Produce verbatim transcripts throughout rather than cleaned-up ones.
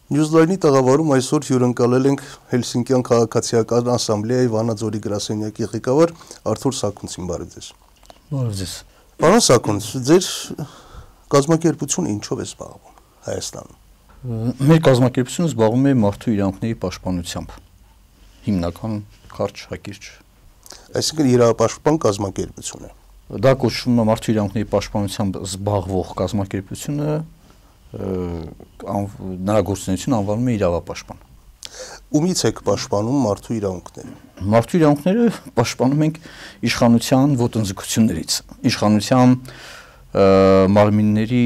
Նյուզլայնի տաղավարում այսօր հյուրընկալել ենք Հելսինկյան քաղաքացիական ասամբլեայի Վանաձորի գրասենյակի ղեկավար Արթուր Սաքունցին, բարև ձեզ։ Բարև ձեզ։ Պարոն Սաքունց, ձեր կազմակերպությունը ինչով է զբաղվում Հայաստանում։ Մեր կազմակերպությունը զբաղվում է մարդու իրավունքների պաշտպանությամբ։ Հիմնական կարճ հակիրճ։ Այսինքն իրավապաշտպան կազմակերպություն է։ Դա կոչվում է մարդու իրավունքների պաշտպանությամբ զբաղվող կազմակերպությունը, նրա գործունեությունը անվանում է իրավապաշտպան։ Ումից եք պաշտպանում մարդու իրավունքները։ Մարդու իրավունքները պաշտպանում ենք իշխանության ոտնձգություններից, իշխանության մարմինների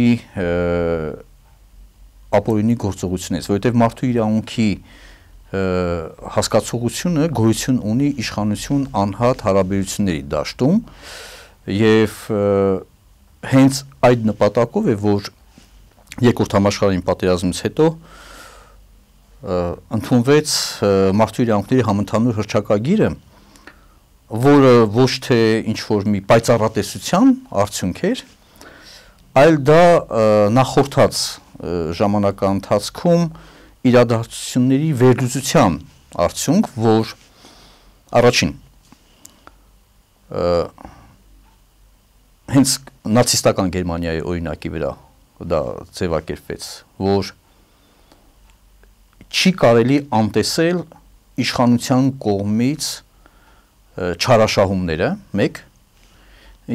ապօրինի գործողություններից, որովհետև մարդու իրավունքի հասկացողությունը գոյություն ունի իշխանություն անհատ հարաբերությունների դաշտում եւ հենց այդ նպատակով է, որ Երկրորդ համաշխարհային պատերազմից հետո ընդունվեց մարդու իրավունքների համընդհանուր հռչակագիրը, որը ոչ թե ինչ-որ մի պայծառատեսության արդյունք էր, այլ դա նախորդած ժամանակի ընթացքում իրադարձությունների վերլուծության արդյունք, որ առաջին հենց նացիստական Գերմանիայի օրինակի վրա դա ձևակերպվեց, որ չի կարելի անտեսել իշխանության կողմից չարաշահումները, մեկ,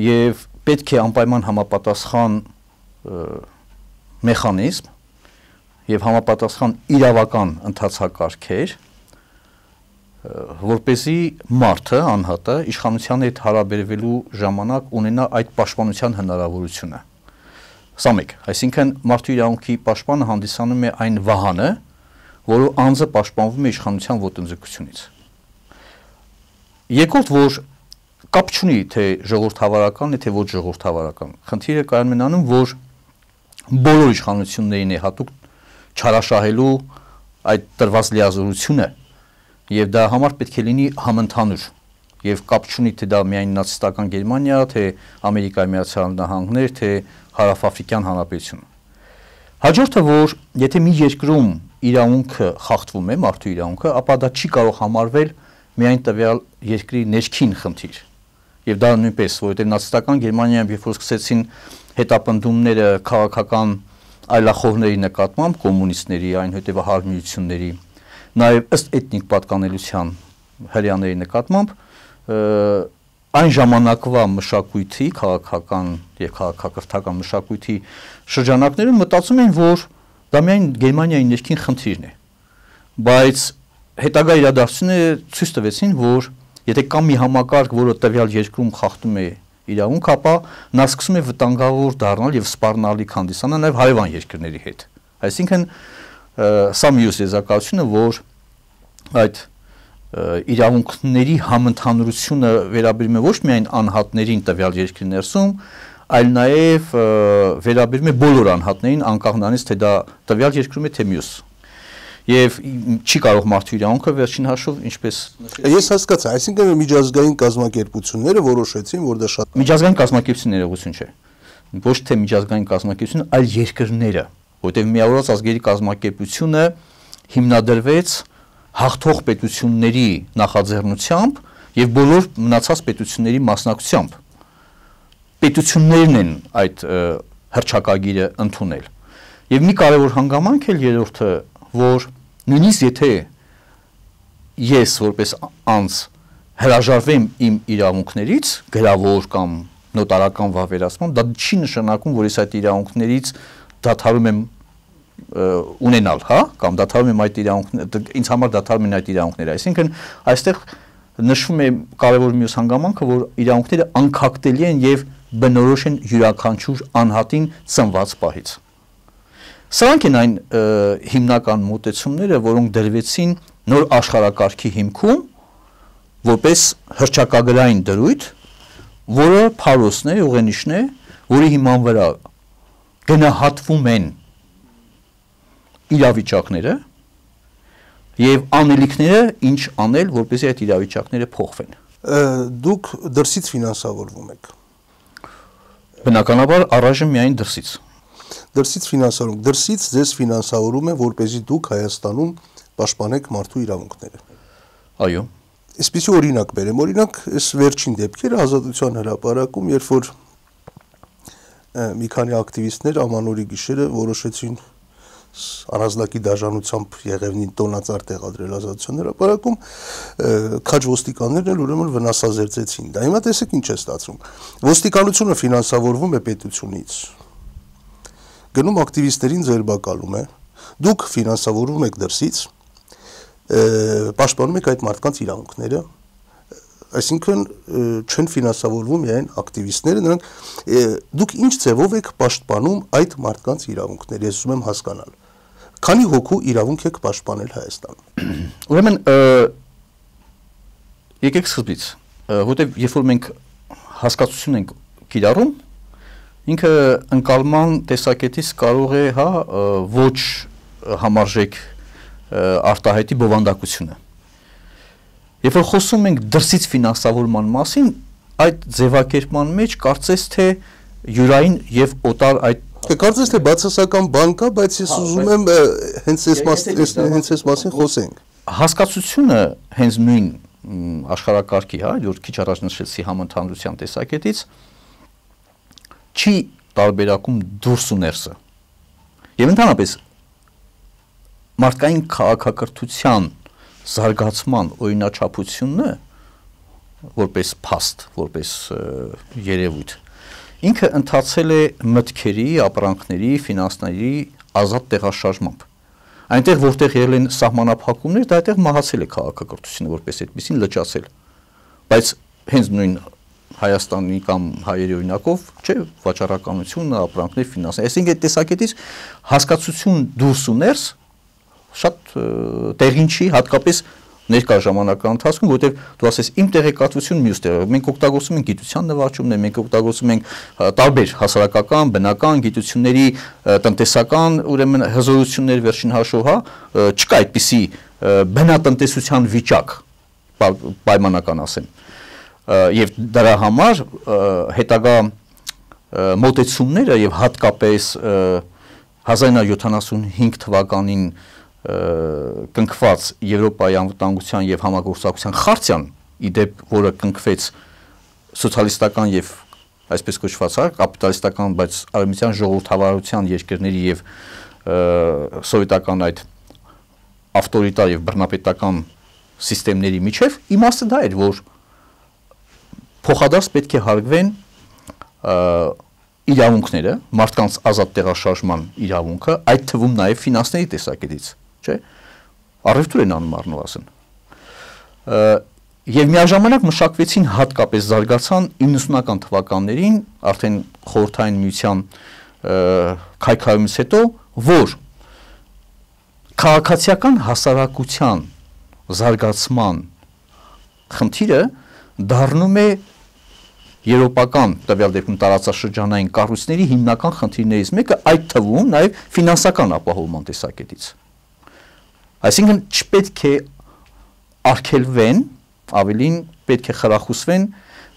եւ պետք է անպայման համապատասխան մեխանիզմ եւ համապատասխան իրավական ընթացակարգեր, որպեսզի մարդը, անհատը իշխանության հետ հարաբերվելու ժամանակ ունենա այդ պաշտպանության հնարավորությունը։ Սա մեկ, այսինքն մարդու իրավունքի պաշտպանը հանդիսանում է այն վահանը, որը անձը պաշտպանվում է իշխանության ոտնձգությունից։ Երկրորդ, որ կապ չունի, թե ժողովրդավարական է, թե ոչ ժողովրդավարական։ Խնդիրը կայանում է անում, որ բոլոր իշխանություններին է հատուկ չարաշահելու այդ տրված լիազորությունը, եւ դա համար պետք է լինի համընդհանուր, եւ կապ չունի, թե դա միայն նացիստական Գերմանիա, թե Ամերիկայի Միացյալ Նահանգներ, թե Հարավաֆրիկյան Հանրապետություն։ Հաջորդը, որ եթե մի երկրում իրավունքը խախտվում է, մարդու իրավունքը, ապա դա չի կարող համարվել միայն տվյալ երկրի ներքին խնդիր։ Եվ դա նույնպես, որովհետև նացիստական Գերմանիայում երբ որ սկսեցին հետապնդումները քաղաքական այլախոհների նկատմամբ, կոմունիստների, այնուհետև հարմիությունների, նաև ըստ էթնիկ պատկանելության հրեաների նկատմամբ, այն ժամանակվա մշակույթի, քաղաքական եւ քաղաքակրթական մշակույթի շրջանակներում մտածում են, որ դա միայն Գերմանիայի ներքին խնդիրն է, բայց հետագա իրադարձությունները ցույց տվեցին, որ եթե կա մի համակարգ, որը տվյալ երկրում խախտում է իրավունք, ապա նա սկսում է վտանգավոր դառնալ եւ սպառնալիք հանդիսանալ նաեւ հարևան երկրների հետ։ Այսինքն սա մյուս եզրակացությունը, որ այդ իրավունքների համընդհանուրությունը վերաբերում է ոչ միայն անհատներին տվյալ երկրի ներսում, այլ նաև վերաբերում է բոլոր անհատներին, անկախ նրանից, թե դա տվյալ երկրում է, թե մյուս։ Եվ չի կարող մարդու իրավունքը վերջին հաշվով, ինչպես Ես հասկացա, այսինքն միջազգային կազմակերպությունները որոշեցին, որ դա շատ միջազգային կազմակերպություն ներողություն չէ։ Ոչ թե միջազգային կազմակերպություն, այլ երկրները, որտեղ Միավորված ազգերի կազմակերպությունը հիմնադրվեց հաղթող պետությունների նախաձեռնությամբ եւ բոլոր մնացած պետությունների մասնակցությամբ։ Պետություններն են այդ հռչակագիրը ընդունել։ Եվ մի կարևոր հանգամանք էլ երրորդը, որ նույնիսկ եթե ես որպես անձ հրաժարվեմ իմ իրավունքներից, գրավոր կամ նոտարական վավերացմամբ, դա չի նշանակում, որ ես այդ իրավունքներից դադարում եմ ունենալ, հա, կամ դադարում եմ այդ իրավունքները, ինձ համար դադարում են այդ իրավունքները, այսինքն այստեղ նշվում է կարևոր մյուս հանգամանքը, որ իրավունքները անքակտելի են եւ բնորոշ են յուրաքանչյուր անհատին ծնված պահից։ Սրանք են այն հիմնական մոտեցումները, որոնք դրվեցին նոր աշխարհակարգի հիմքում, որպես հռչակագրային դրույթ, որը փարոսն է, ուղենիշն է, որի հիման վրա գնահատվում են իրավիճակները եւ անելիքները, ինչ անել, որպեսզի այդ իրավիճակները փոխվեն։ Դուք դրսից ֆինանսավորվում եք։ Բնականաբար առայժմ միայն դրսից։ Դրսից ֆինանսավորում, դրսից ձեզ ֆինանսավորում են, որպեսզի դուք Հայաստանում պաշտպանեք մարդու իրավունքները։ Այո։ Այսպիսի օրինակ բերեմ, օրինակ, այս վերջին դեպքերը Ազատության հրապարակում, երբ որ մի քանի ակտիվիստներ ամանորի գիշերը որոշեցին առանձնակի դաժանությամբ Եղևնին տոնածառ տեղադրել Ազատության հրապարակում, քաջ ոստիկաններն էլ ուրեմն վնասազերծեցին։ Դա հիմա տեսեք ինչ է ստացվում։ Ոստիկանությունը ֆինանսավորվում է պետությունից։ Գնում ակտիվիստերին ձերբակալում է, դուք ֆինանսավորում եք դրսից, պաշտպանում եք այդ մարդկանց իրավունքները, այսինքն չեն ֆինանսավորվում միայն ակտիվիստները, նրանք դուք ինչ ձևով եք պաշտպանում այդ մարդկանց իրավունքները, ես ուզում եմ հասկանալ։ Քանի հոգու իրավունք եք պաշտպանել Հայաստանում։ Ուրեմն եկեք սկզբից, որտեղ երբ որ մենք հասկացություն ենք կիրառում, ինքը ընկալման տեսակետից կարող է, հա, ոչ համարժեք արտահայտի բովանդակությունը։ Երբ որ խոսում ենք դրսից ֆինանսավորման մասին, այդ ձևակերպման մեջ կարծես թե յուրային եւ օտար այդ կարծես թե բացասական բան կա, բայց ես ուզում եմ հենց այս հենց այս մասին խոսենք։ Հասկացությունը հենց նույն աշխարհակարգի, հա, որ քիչ առաջ նշեցի համընդհանրության տեսակետից, չի տարբերակում դուրս ու ներսը։ Եվ ընդհանրապես մարդկային քաղաքակրթության զարգացման օրինաչափությունը որպես փաստ, որպես երևույթ, ինքը ընթացել է մտքերի, ապրանքների, ֆինանսների ազատ տեղաշարժմամբ։ Այնտեղ որտեղ եղել են սահմանափակումներ, դա այդտեղ մահացել է քաղաքակրթությունը որպես այդպեսին լճացել։ Բայց հենց նույն Հայաստանի կամ հայերի օրինակով, չէ, վաճառականությունը, ապրանքներ, ֆինանսներ, այսինքն այդ տեսակետից հասկացություն դուրս ու ներս շատ տեղին չի, հատկապես ներկա ժամանակահատվածի ընթացքում, որտեղ դու ասես իմ տեղեկատվությունը մյուս տեղը, մենք օգտագործում ենք գիտության նվաճումներ, մենք օգտագործում ենք տարբեր հասարակական, բնական գիտությունների, տնտեսական, ուրեմն հզորություններ վերջին հաշվով, հա, չկա այդպիսի բնատնտեսության վիճակ, պայմանական ասեմ։ Եվ դրա համար հետագա մոտեցումները եւ հատկապես հազար իննսուն յոթանասունհինգ թվականին կնքված Եվրոպայի անվտանգության եւ համագործակցության խարտիան, իդեպ որը կնքվեց սոցիալիստական եւ այսպես կոչված կապիտալիստական, բայց արևմտյան ժողովրդավարության երկրների եւ սովետական այդ ավտորիտար եւ բռնապետական սիստեմների միջև իմաստը դա էր, որ փոխադարձ պետք է հարգվեն իրավունքները, մարդկանց ազատ տեղաշարժման իրավունքը, այդ թվում նաև ֆինանսների տեսակետից, չէ՞։ Առևտուր են անում առնվազն։ Եվ միաժամանակ մշակվեցին հատկապես զարգացան իննսունական թվականներին, արդեն խորհրդային միության քայքայումից հետո, որ քաղաքացիական հասարակության զարգացման խնդիրը դառնում է եվրոպական տվյալ դեպքում տարածաշրջանային կառույցների հիմնական խնդիրներից մեկը, այդ թվում նաև ֆինանսական ապահովման տեսակետից։ Այսինքն չպետք է արգելվեն, ավելին պետք է խրախուսվեն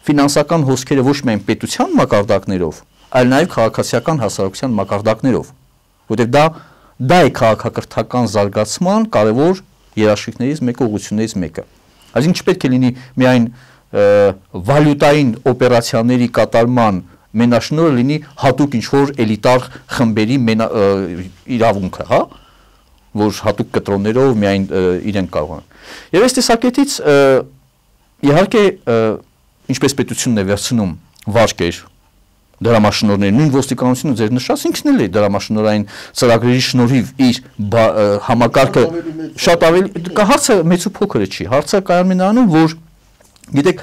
ֆինանսական հոսքերը ոչ միայն պետության մակարդակներով, այլ նաև քաղաքացիական հասարակության մակարդակներով, որտեղ դա դա է քաղաքակրթական զարգացման կարևոր երաշխիքներից մեկը, ուղղություններից մեկը։ Այսինքն չպետք է լինի միայն վալյուտային օպերացիաների կատարման մենաշնորհը լինի հատուկ ինչ-որ էլիտար խմբերի իրավունքը, հա, որ հատուկ կտրոններով միայն իրենք կարող են։ Եվ այս տեսակետից իհարկե ինչպես պետությունն է վերցնում վարկեր, դրամաշնորհներ, նույն ոստիկանությունը ձեր նշած ինքն էլ է դրամաշնորհային ծրագրերի շնորհիվ իր համակարգը շատ ավելի հարցը մեծ ու փոքր չի, հարցը կայանում է նրանում, որ գիտեք,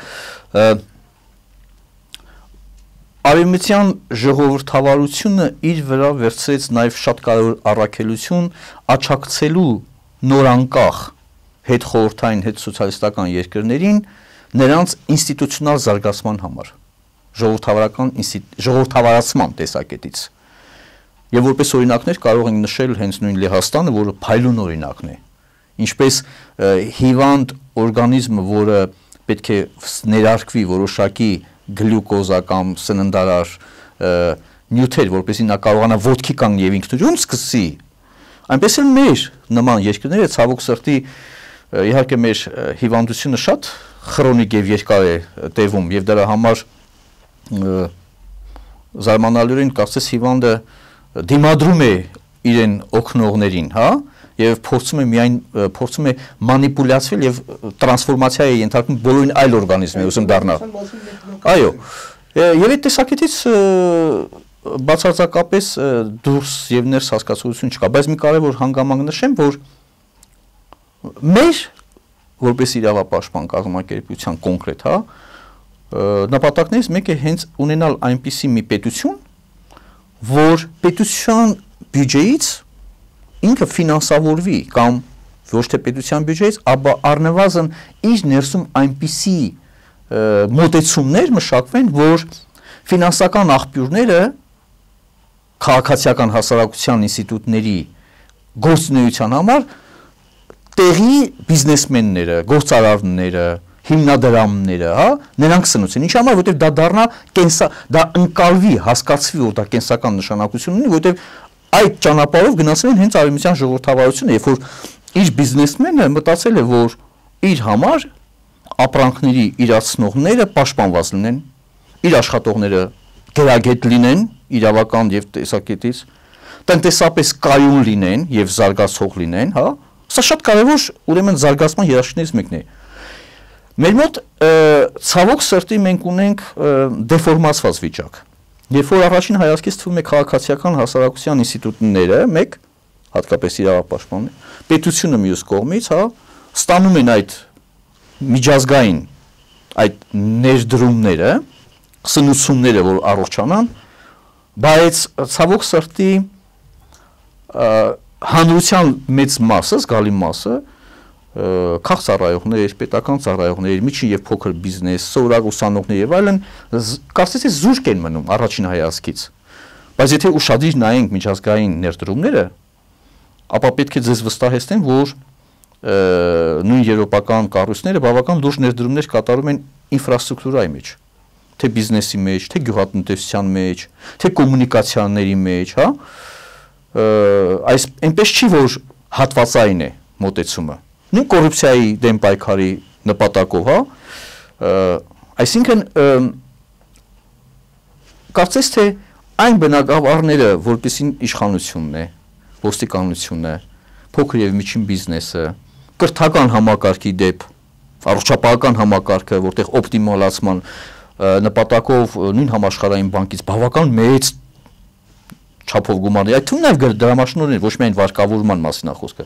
արևմտյան ժողովրդավարությունը իր վրա վերցրեց նաև շատ կարևոր առաքելություն աչակցելու նորանկախ հետ խորհրդային, հետ սոցիալիստական երկրներին նրանց ինստիտուցիոնալ զարգացման համար, ժողովրդավարական ժողովրդավարացման տեսակետից։ Եվ որպես օրինակներ կարող ենք նշել հենց նույն Լեհաստանը, որը փայլուն օրինակն է, ինչպես հիվանդ օրգանիզմը, որը պետք է ներարկվի որոշակի գլյուկոզա կամ սննդարար նյութեր, որպեսզի նա կարողանա ոտքի կանգնի եւ ինքնուրույն սկսի, այնպես էլ մեր նման երկրները ցավոք սրտի իհարկե մեր հիվանդությունը շատ քրոնիկ եւ երկար է տևում եւ դրա համար զարմանալիորեն կարծես հիվանդը դիմադրում է իրեն օգնողներին, հա, եւ փորձում է միայն փորձում է մանիպուլյացվել եւ տրանսֆորմացիա է ենթարկում բոլորին այլ օրգանիզմի ուսում դառնա։ Այո։ Եվ այդ տեսակետից բացարձակապես դուրս եւ ներս հասկացություն չկա, բայց մի կարևոր հանգամանք նշեմ, որ մեր որպես իրավապաշտպան կազմակերպության կոնկրետ, հա, նպատակներից մեկը հենց ունենալ այնպիսի մի պետություն, որ պետության բյուջեից ինքը ֆինանսավորվի կամ ոչ թե պետության բյուջեից, ապա առնվազն իր ներսում այնպիսի մոտեցումներ մշակվեն, որ ֆինանսական աղբյուրները քաղաքացիական հասարակության ինստիտուտների գործունեության համար տեղի բիզնեսմենները, գործարարները, հիմնադրամները, հա, նրանք սնուցեն։ Ինչի համար, որտեղ դա դառնա կենսա, դա ընկալվի, հասկացվի, որ դա կենսական նշանակություն ունի, որտեղ այդ ճանապարհով գնացել են հենց արևմտյան ժողովրդավարությունը, երբ որ իր բիզնեսմենը մտածել է, որ իր համար ապրանքների իրացնողները պաշտպանված լինեն, իր աշխատողները գերագետ լինեն, իրավական եւ տեսակետից, տնտեսապես կայուն լինեն եւ զարգացող լինեն, հա։ Սա շատ կարևոր ուրեմն զարգացման երաշխիքներից մեկն է։ Մեր մոտ ցավոք սրտի մենք ունենք դեֆորմացված վիճակ։ Երբ որ առաջին հայացքից թվում է քաղաքացիական հասարակության ինստիտուտները, մեկ, հատկապես իրավապաշտպանները, պետությունը մյուս կողմից, հա, ստանում են այդ միջազգային այդ ներդրումները, սնուցումները, որ առողջանան, բայց ցավոք սրտի հանրության մեծ մասը, զգալի մասը, քաղաք ծառայողներ, պետական ծառայողներ, միջին եւ փոքր բիզնես, սովորակ ուսանողներ եւ այլն, կարծես թե զուրկ են մնում առաջին հայացքից։ Բայց եթե ուշադիր նայենք միջազգային ներդրումները, ապա պետք է ձեզ վստահեցնեմ, որ նույն եվրոպական կառույցները բավական լուրջ ներդրումներ կատարում են ինֆրաստրուկտուրայի մեջ, թե բիզնեսի մեջ, թե գյուղատնտեսության մեջ, թե կոմունիկացիաների մեջ, հա, այս այնպես չի, որ հատվածային է մոտեցումը։ Նույն կոռուպցիայի դեմ պայքարի նպատակով, հա, այսինքն կարծես թե այն բնագավառները, որպեսին իշխանությունն է, ոստիկանությունն է, փոքր եւ միջին բիզնեսը, կրթական համակարգի դեպ, առողջապահական համակարգը, որտեղ օպտիմալացման նպատակով նույն համաշխարհային բանկից բավական մեծ չափով գումարներ, այդ թվում նաև դրամաշնորհներ, ոչ միայն վարկավորման մասին է խոսքը։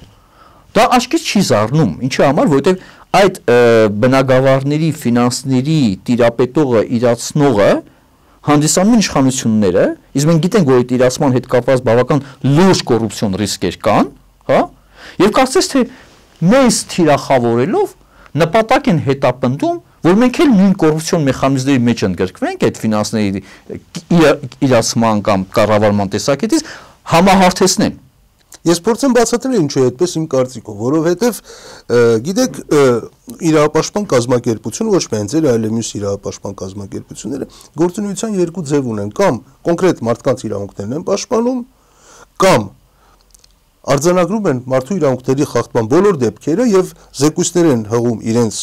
Դա աչքից չի զառնում, ինչի համար, որովհետև այդ բնագավառների, ֆինանսների տիրապետողը, իրացնողը հանդիսանում են իշխանությունները, իսկ մենք գիտենք, որ այդ իրացման հետ կապված բավական լուրջ կոռուպցիոն ռիսկեր կան, հա, եւ կարծես թե մեզ թիրախավորելով նպատակ են հետապնդում, որ մենք էլ նույն կոռուպցիոն մեխանիզմների մեջ ընդգրկվենք այդ ֆինանսների իրացման կամ կառավարման տեսակետից համահարթեցնեն։ Ես փորձեմ բացատրել ինչու է այդպես իմ կարծիքով, որովհետև գիտեք իրավապաշտպան կազմակերպությունը ոչ միայն ձեր, այլ մյուս իրավապաշտպան կազմակերպությունները գործունեության երկու ձև ունեն, կամ կոնկրետ մարդկանց իրավունքներն են պաշտպանում, կամ արձանագրում են մարդու իրավունքների խախտման բոլոր դեպքերը եւ զեկույցներ են հղում իրենց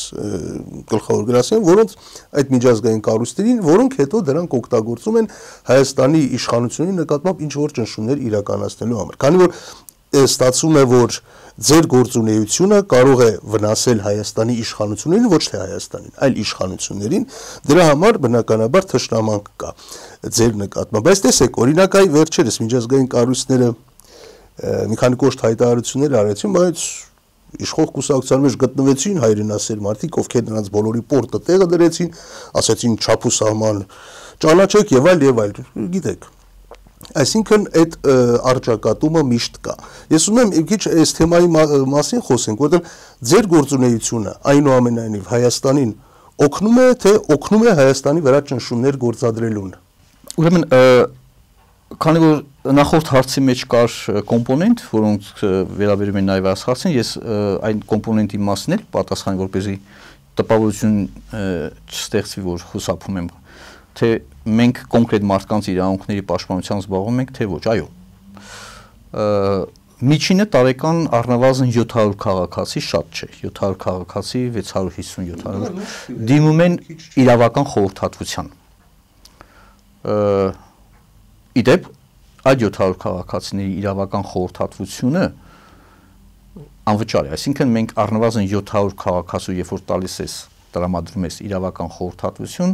գլխավոր գրասենյակին, որոնց այդ միջազգային կառույցներին, որոնք հետո դրանք օգտագործում են Հայաստանի իշխանությունների նկատմամբ ինչ որ ճնշումներ իրականացնելու համար։ Քանի որ ստացվում է, որ ձեր գործունեությունը կարող է վնասել Հայաստանի իշխանություններին, ոչ թե Հայաստանին, այլ իշխանություններին, դրա համար բնականաբար թշնամանք կա ձեր նկատմամբ։ Բայց տեսեք, օրինակ այ վերջերս միջազգային կառույցները մի քանի կոշտ հայտարարություններ արեցին, բայց իշխող կուսակցության մեջ գտնվեցին հայրենասեր մարդիկ, ովքեր նրանց բոլորի պորտը տեղը դրեցին, ասացին չափ ու սահման ճանաչեք եւ այլ եւ այլ, գիտեք։ Այսինքն այդ արճակատումը միշտ կա։ Ես ուզում եմ մի քիչ այս թեմայի մասին խոսենք, որովհետեւ ձեր գործունեությունը այնուամենայնիվ Հայաստանին օգնում է, թե օգնում է Հայաստանի վրա ճնշումներ գործադրելուն։ Ուրեմն քանի որ նախորդ հարցի մեջ կար կոմպոնենտ, որոնք վերաբերում են նաև այս հարցին, ես այն կոմպոնենտի մասին էլ պատասխան, որպեսզի տպավորություն չստեղծվի, որ խուսափում եմ թե մենք կոնկրետ մարդկանց իրավունքների պաշտպանությամբ զբաղվում ենք, թե ոչ, այո։ Միջինը տարեկան առնվազն յոթ հարյուր քաղաքացի, շատ չէ, յոթ հարյուր քաղաքացի, վեց հարյուր հիսուն յոթ հարյուր դիմում են իրավական խորհրդատվության։ Իդեպ այդ յոթ հարյուր քաղաքացիների իրավական խորհրդատվությունը անվճար է, այսինքն մենք առնվազն յոթ հարյուր քաղաքացու երբ որ տալիս ես, տրամադրում ես իրավական խորհրդատվություն,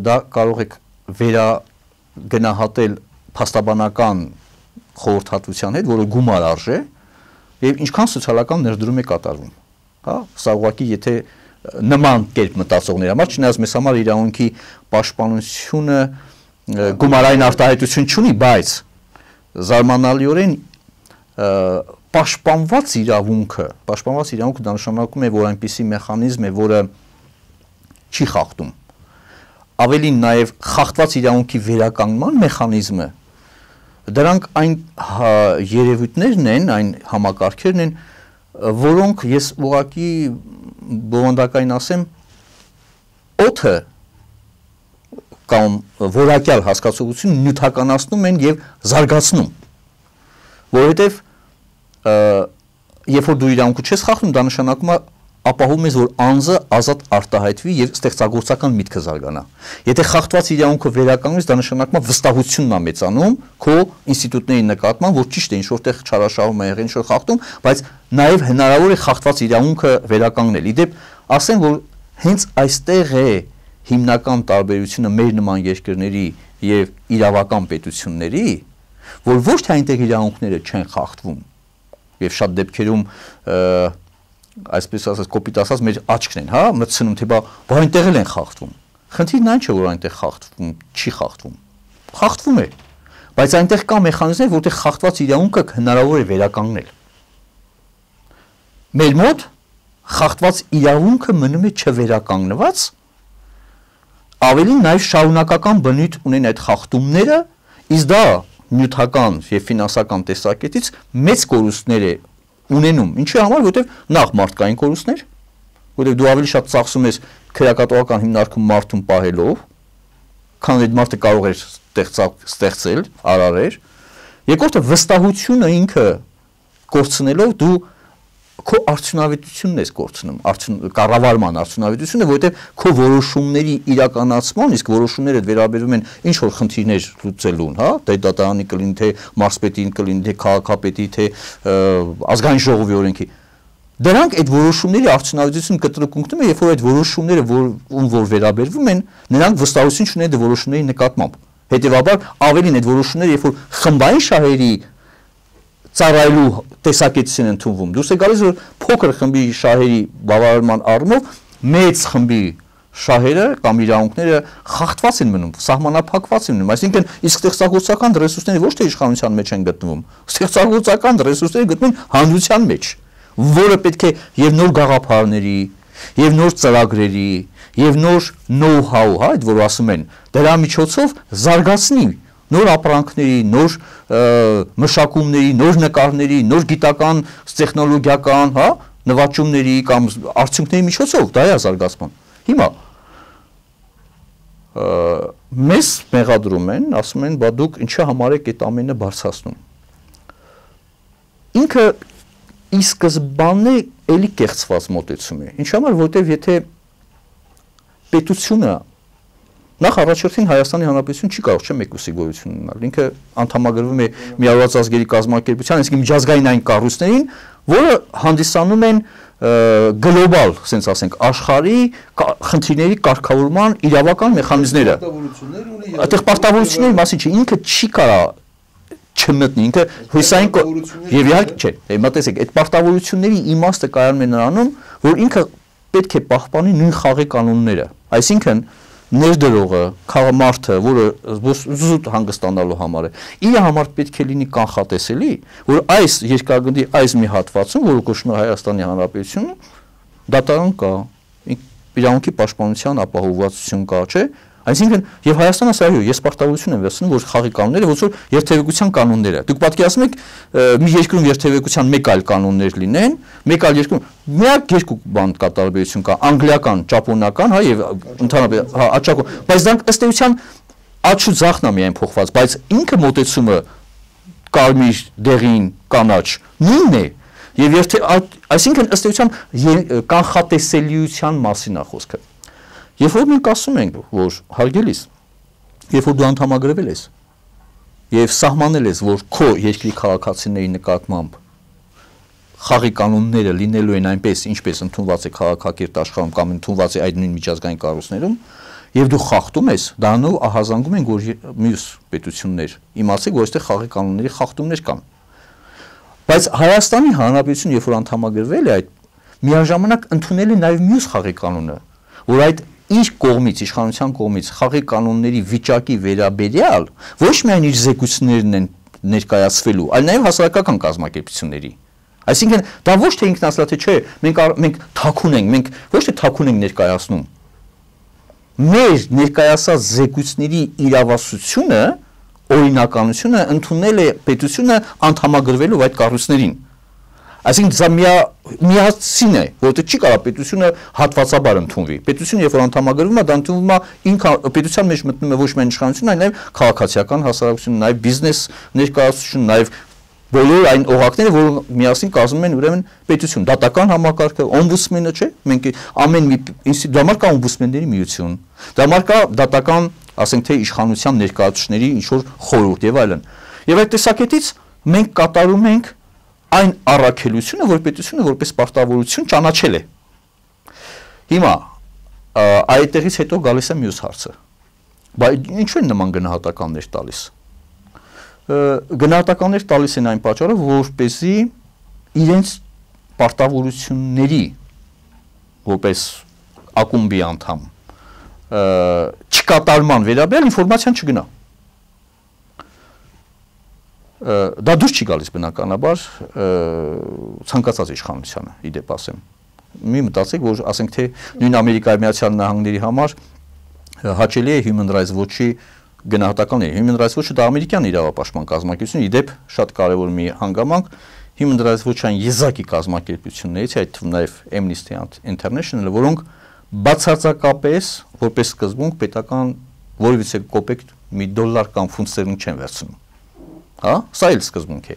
դա կարող եք վերագնահատել փաստաբանական խորհրդատվության հետ, որը գումար արժե, եւ ինչքան սոցիալական ներդրում է կատարվում, հա, սա ուղղակի եթե նման կերպ մտածողների համար, չնայած մեզ համար իրավունքի պաշտպանությունը գումարային արտահայտություն չունի, բայց զարմանալիորեն պաշտպանված իրավունքը, պաշտպանված իրավունքը դա նշանակում է, որ այնպիսի մեխանիզմ է, որը չի խախտում։ Ավելին նաև խախտված իրավունքի վերականգնման մեխանիզմը, դրանք այն երևույթներն են, այն համակարգերն են, որոնք ես ուղղակի բովանդակային ասեմ, օդը կամ որակյալ հասկացողություն նյութականացնում են եւ զարգացնում, որովհետեւ երբ որ դու իրավունքը չես խախտում, դա նշանակում է ապահովում ես, որ անձը ազատ արտահայտվի եւ ստեղծագործական միտքը զարգանա։ Եթե խախտված իրավունքը վերականգնես, դա նշանակում է վստահությունն է մեծանում քո ինստիտուտների նկատմամբ, որ ճիշտ է, ինչ որտեղ չարաշահում է եղել, ինչ որ խախտում, բայց նաեւ հնարավոր է խախտված իրավունքը վերականգնել։ Իդեպ ասեմ, որ հենց այստեղ է հիմնական տարբերությունը մեր նման երկրների եւ իրավական պետությունների, որ ոչ թե այնտեղ իրավունքները չեն խախտվում, եւ շատ դեպքերում այսպես ասած կոպիտ ասած մեր աչքն են, հա, մտցնում թե բա բա այնտեղ էլ են խախտվում։ Խնդիրն այն չէ, որ այնտեղ խախտվում, չի խախտվում։ Խախտվում է, բայց այնտեղ կա մեխանիզմներ, որտեղ խախտված իրավունքը հնարավոր է վերականգնել։ Մեր մոտ խախտված իրավունքը մնում է չվերականգնված, ավելին նաև շարունակական բնույթ ունեն այդ խախտումները, իսկ դա նյութական եւ ֆինանսական տեսակետից մեծ կորուստներ է ունենում, ինչի համար, որովհետեւ նախ մարդկային կորուստներ, որովհետեւ դու ավելի շատ ծախսում ես քրեակատողական հիմնարկում մարդուն պահելով, քան այդ մարդը կարող էր ստեղծել, արարել։ Երկրորդը վստահությունը ինքը կորցնելով դու քո արդյունավետությունն ես կորցնում, կառավարման արդյունավետությունը, որովհետև քո որոշումների իրականացման, իսկ որոշումները վերաբերում են ինչ որ խնդիրներ լուծելուն, հա, թե դատարանի կլինի, թե մարզպետին կլինի, թե քաղաքապետի, թե ազգային ժողովի օրենքի։ Դրանք այդ որոշումների արդյունավետությունը կտրկունքնում է, երբ որ այդ որոշումները ում որ վերաբերվում են, նրանք վստահություն չունեն այդ որոշումների նկատմամբ։ Հետևաբար ավելին այդ որոշումները, երբ որ խմբային շահերի ծառայելու տեսակետից են ընդունվում, դուրս է գալիս, որ փոքր խմբի շահերի բավարարման առումով մեծ խմբի շահերը կամ իրավունքները խախտված են մնում, սահմանափակված են մնում, այսինքն իսկ ստեղծագործական ռեսուրսները ոչ թե իշխանության մեջ են գտնվում, ստեղծագործական ռեսուրսները գտնվում են հանրության մեջ, որը պետք է եւ նոր գաղափարների, եւ նոր ծրագրերի, եւ նոր know-how, հա, այդ որ ասում են, դրա միջոցով զարգացնի նոր ապրանքների, նոր մշակումների, նոր նկարների, նոր գիտական, տեխնոլոգիական, հա, նվաճումների կամ արդյունքների միջոցով դա է զարգացման։ Հիմա մեզ մեղադրում են, ասում են, բա դուք ինչի համար եք այդ ամենը բարձրացնում։ Ինքը ի սկզբանե էլի կեղծված մոտեցում է։ Ինչ համար, որտեվ եթե պետությունը նախ առաջորդին Հայաստանի Հանրապետություն չի կարող չէ մեկուսի գոյություն ունենալ։ Ինքը անդամագրվում է Միավորված ազգերի կազմակերպության, իսկ միջազգային այն կառույցներին, որը հանդիսանում են գլոբալ, ասենք ասենք, աշխարհի խնդիրների կարգավորման իրավական մեխանիզմները։ Այդտեղ պարտավորությունների մասին չի, ինքը չի կարա չմտնի, ինքը հույսային եւ իհարկե չէ, հիմա տեսեք, այդ պարտավորությունների իմաստը կայանում է նրանում, որ ինքը պետք է պահպանի նույն խաղի կանոնները, այսինքն ներդրողը, քաղաքամարտը, որը զուտ հանգստանալու համար է, իր համար պետք է լինի կանխատեսելի, որ այս երկրագնդի այս մի հատվածում, որը կոչվում է Հայաստանի Հանրապետությունը, դատարան կա, իրավունքի պաշտպանության ապահովվածություն կա, չէ, Այսինքն եւ Հայաստանը սա այո, ես պարտավորություն եմ վերցնում, որ խաղի կանոնները ոնց որ երթևեկության կանոնները։ Դուք պատկերացնում եք մի երկրում երթևեկության մեկ այլ կանոններ լինեն, մեկ այլ երկրում միակ երկու բան կա տարբերություն կա, անգլիական, ճապոնական, հա եւ ընդհանրապես հա աչակո, բայց դրանք ըստ էության աչու ձախն է միայն փոխված, բայց ինքը մոտեցումը կարմիր, դեղին, կանաչ նույնն է։ Եվ եթե այսինքն ըստ էության կանխատեսելիության մասին է խոսքը։ Երբ որ մենք ասում ենք, որ հարգելիս, երբ որ դու անդամագրվել ես եւ սահմանել ես, որ քո երկրի քաղաքացիների նկատմամբ խաղի կանոնները լինելու են այնպես, ինչպես ընդունված է քաղաքակիրթ աշխարհում կամ ընդունված է այդ նույն միջազգային կառույցներում, եւ դու խախտում ես, դրանով ահազանգում են, որ մյուս պետություններ իմացեք, որ այստեղ խաղի կանոնների խախտումներ կան։ Բայց Հայաստանի Հանրապետությունը, երբ որ անդամագրվել է, այդ միաժամանակ ընդունել է նաեւ մյուս խաղի կանոնը, որ այդ իր կողմից, իշխանության կողմից խաղի կանոնների վիճակի վերաբերյալ ոչ միայն իր զեկույցներն են ներկայացվելու, այլ նաեւ հասարակական կազմակերպությունների։ Այսինքն դա ոչ թե ինքնասլա թե չէ, մենք մենք թաքուն ենք, մենք ոչ թե թաքուն ենք ներկայացնում։ Մեր ներկայացած զեկույցների իրավասությունը, օրինականությունը ընդունել է պետությունը անդամագրվելով այդ կառույցներին։ Այսինքն դա միասին է, որովհետեւ չի կարող պետությունը հատվածաբար ընդունվի։ Պետությունը երբ որ անդամագրվում է, դա ընդունվում է ինքը պետության մեջ մտնում է ոչ միայն իշխանությունը, այլ նաև քաղաքացիական հասարակությունը, նաև բիզնես ներկայացություն, նաև բոլոր այն օղակները, որոնք միասին կազմում են ուրեմն պետություն, դատական համակարգը, օմբուդսմենը, չէ՞, մենք ամեն մի ինստիտուտ, դա մարկա օմբուդսմենների միություն, դա մարկա դատական, ասենք թե իշխանության ներկայացուցիչների ինչ որ խորհուրդ եւ այլն։ Եվ այդ տեսակետից մենք կատարում ենք այն առաքելությունը, որ պետությունը որպես պարտավորություն ճանաչել է։ Հիմա այդտեղից հետո գալիս է մյուս հարցը։ Բայց ինչու են նման գնահատականներ տալիս։ Գնահատականներ տալիս են այն պատճառով, որպեսզի իրենց պարտավորությունների որպես ակումբի անդամ չկատարման վերաբերյալ ինֆորմացիան չգնա։ Դա դուրս չի գալիս բնականաբար ցանկացած իշխանությանը, իդեպ ասեմ։ Մի մտածեք, որ ասենք թե նույն Ամերիկայի Միացյալ Նահանգների համար հաճելի է Human Rights Watch-ի գնահատականները։ Human Rights Watch-ը դա ամերիկյան իրավապաշտպան կազմակերպություն, իդեպ շատ կարևոր մի հանգամանք, Human Rights Watch-ային եզակի կազմակերպություններից, այդ թվում նաև Amnesty International-ը, որոնք բացարձակապես որպես սկզբունք պետական որևիցե կոպեկ մի դոլար կամ ֆունտ ստերլինգ չեն վերցնում։ Հա, սա էլ սկզբունք է։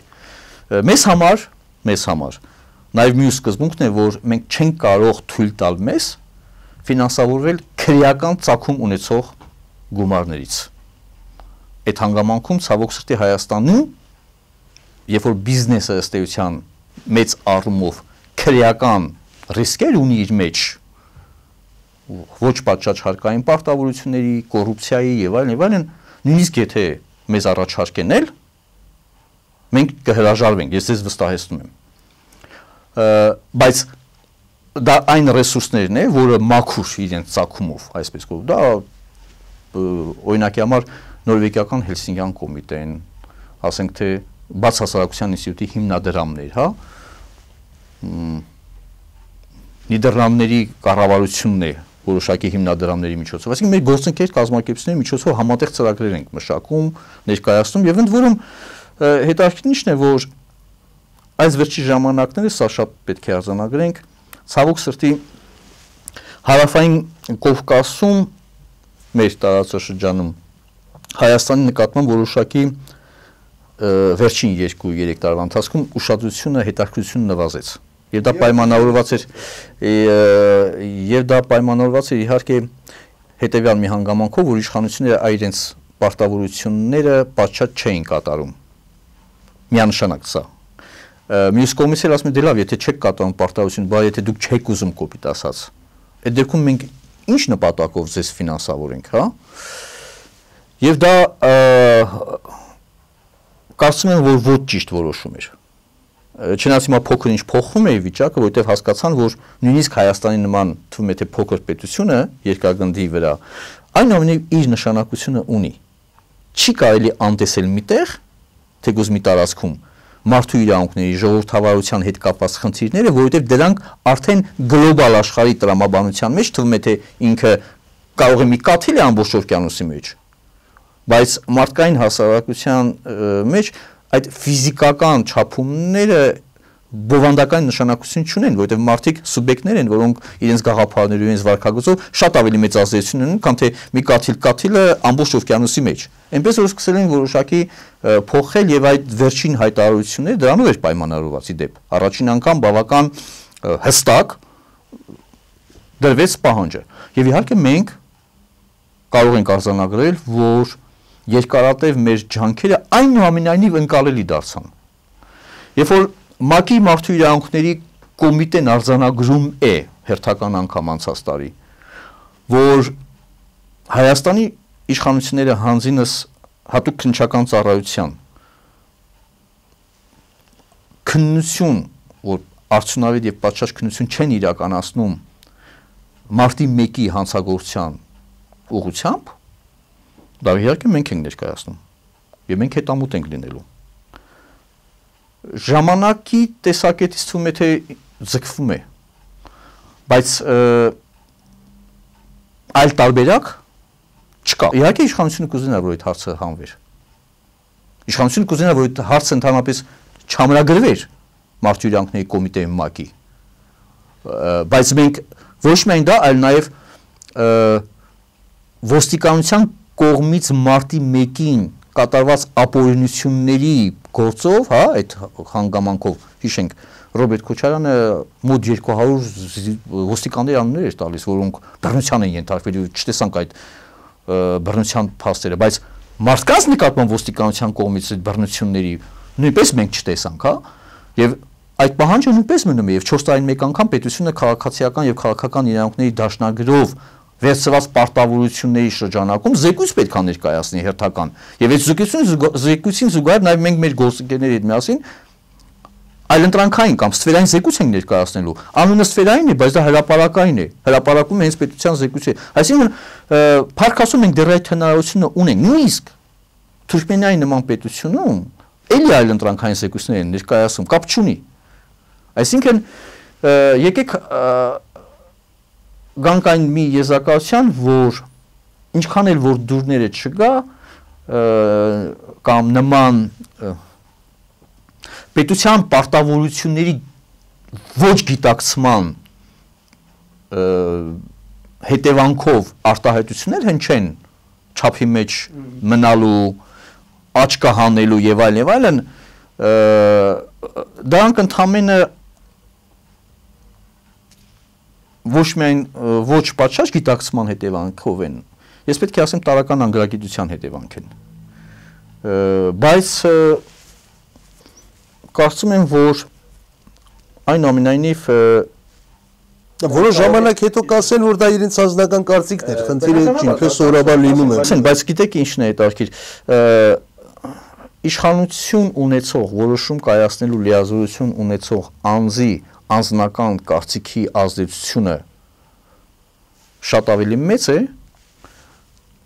Մեզ համար, մեզ համար նաև մյուս սկզբունքն է, որ մենք չենք կարող թույլ տալ մեզ ֆինանսավորվել քրեական ծագում ունեցող գումարներից։ Այդ հանգամանքում ցավոք սրտի Հայաստանում, երբ որ բիզնեսը ըստ էության մեծ առումով քրեական ռիսկեր ունի իր մեջ, ոչ պատշաճ հարկային պարտավորությունների, կոռուպցիայի եւ այլն եւ այլն, նույնիսկ եթե մեզ առաջարկեն էլ մենք կհրաժարվենք, ես ձեզ վստահեցնում եմ։ Բայց դա այն ռեսուրսներն է, որը մաքուր իրենց ցակումով, այսպես կոչ, դա օրինակի համար նորվեգիական Հելսինկյան կոմիտեն, ասենք թե բացասարակության ինստիտուտի հիմնադրամներ, հա, Նիդերլանդների կառավարությունն է որոշակի հիմնադրամների միջոցով, այսինքն մեր գործընկեր կազմակերպությունների միջոցով համատեղ ծրագրեր ենք մշակում, ներկայացնում եւ ընդ որում հետաքրքիրն է, որ այս վերջի ժամանակները սա շատ պետք է արձանագրենք, ցավոք սրտի հարավային Կովկասում մեր տարածաշրջանում Հայաստանի նկատմամբ որոշակի վերջին երկու երեք տարվա ընթացքում ուշադրությունը, հետաքրքրությունը նվազեց։ Եվ դա պայմանավորված էր եւ դա պայմանավորված էր իհարկե հետեւյալ մի հանգամանքով, որ իշխանությունները իրենց պարտավորությունները պատշաճ չէին կատարում։ Միանշանակ սա։ Մյուս կողմից էլ ասում եմ, դե լավ, եթե չեք կատարում պարտավորություն, բայց եթե դուք չեք ուզում կոպիտ ասած, այդ դեպքում մենք ինչ նպատակով ձեզ ֆինանսավորենք, հա։ Եվ դա կարծում եմ, որ ոչ ճիշտ որոշում էր։ Չնայած հիմա փոքր ինչ փոխվում է վիճակը, որովհետև հասկացան, որ նույնիսկ Հայաստանի նման թվում է թե փոքր պետությունը երկրագնդի վրա այնուամենայնիվ իր նշանակությունը ունի։ Չի կարելի անտեսել միտեղ, թեկուզ մի տարածքում մարդու իրավունքների, ժողովրդավարության հետ կապված խնդիրները, որովհետև դրանք արդեն գլոբալ աշխարհի տրամաբանության մեջ թվում է թե ինքը կարող է մի կաթիլ է ամբողջ օվկիանոսի մեջ, բայց մարդկային հասարակության մեջ այդ ֆիզիկական չափումները բովանդական նշանակություն չունեն, որովհետև մարդիկ սուբյեկտներ են, որոնք իրենց գաղափարներով, իրենց վարքագծով շատ ավելի մեծ ազդեցություն ունեն, քան թե մի կաթիլ կաթիլը ամբողջ օվկիանոսի մեջ։ Այնպես որ սկսել են որոշակի փոխել եւ այդ վերջին հայտարարությունները դրանով էր պայմանավորված ի դեպ։ Առաջին անգամ բավական հստակ դրվեց պահանջը։ Եվ իհարկե մենք կարող ենք արձանագրել, որ երկարատև մեր ջանքերը այնուամենայնիվ ընկալելի դարձան։ Երբ որ ՄԱԿ-ի մարդու իրավունքների կոմիտեն արձանագրում է հերթական անգամ անցած տարի, որ Հայաստանի իշխանությունները հանձինս հատուկ քննչական ծառայության քննություն, որ արդյունավետ եւ պատշաճ քննություն չեն իրականացնում մարտի մեկի հանցագործության ուղղությամբ, դա իհարկե մենք ենք ներկայացնում եւ մենք հետամուտ ենք լինելու։ Ժամանակի տեսակետից թվում է թե ձգվում է, բայց այլ տարբերակ չկա։ Իհարկե իշխանությունը կուզենա, որ այդ հարցը հանվեր։ Իշխանությունը կուզենա, որ այդ հարցը ընդհանրապես չամրագրվեր մարդու իրավունքների կոմիտեի ՄԱԿ-ի, բայց մենք ոչ միայն դա, այլ նաև ոստիկանության կողմից մարտի մեկին կատարված ապօրինությունների գործով, հա, այդ հանգամանքով, հիշենք, Ռոբերտ Քոչարյանը մոտ երկու հարյուր ոստիկանների անուններ էր տալիս, որոնք բռնության են ենթարկվել, չտեսանք այդ բռնության փաստերը, բայց մարդկանց նկատմամբ ոստիկանության կողմից այդ բռնությունների նույնպես մենք չտեսանք, հա, եւ այդ պահանջը նույնպես մնում է եւ չորս տարին մեկ անգամ պետությունը քաղաքացիական եւ քաղաքական իրավունքների դաշնագրով վերցված պարտավորությունների շրջանակում զեկույց պետք է ներկայացնի հերթական եւ այդ զեկույցին զուգահեռ նաեւ մենք մեր գործընկերների հետ միասին այլընտրանքային կամ ստվերային զեկույց ենք ներկայացնելու, անունը ստվերային է, բայց դա հրապարակային է, հրապարակում է հենց պետության զեկույցը, այսինքն փառք ասում ենք դեռ այդ հնարավորությունը ունենք, նույնիսկ Թուրքմենիայի նման պետությունում էլի այլընտրանքային զեկույցներ են ներկայացում, կապ չունի, այսինքն եկեք գանք այն մի եզրակացության, որ ինչքան էլ որ դուրները չգա կամ նման պետության պարտավորությունների ոչ գիտակցման հետևանքով արտահայտություններ հնչեն չափի մեջ մնալու, աչքը հանելու եւ այլն եւ այլն, դրանք ընդհանրապես ոչ միայն ոչ պատշաճ գիտակցման հետևանքով են, ես պետք է ասեմ տարական անգրագիտության հետևանք են, բայց կարծում եմ, որ այնուամենայնիվ որոշ ժամանակ հետո կասեն, որ դա իրենց անձնական կարծիքն էր, խնդիրը ինչպես սովորաբար լինում է։ Բայց գիտեք ինչն է հետաքրքիր, իշխանություն ունեցող, որոշում կայացնելու լիազորություն ունեցող անձի անձնական կարծիքի ազդեցությունը շատ ավելի մեծ է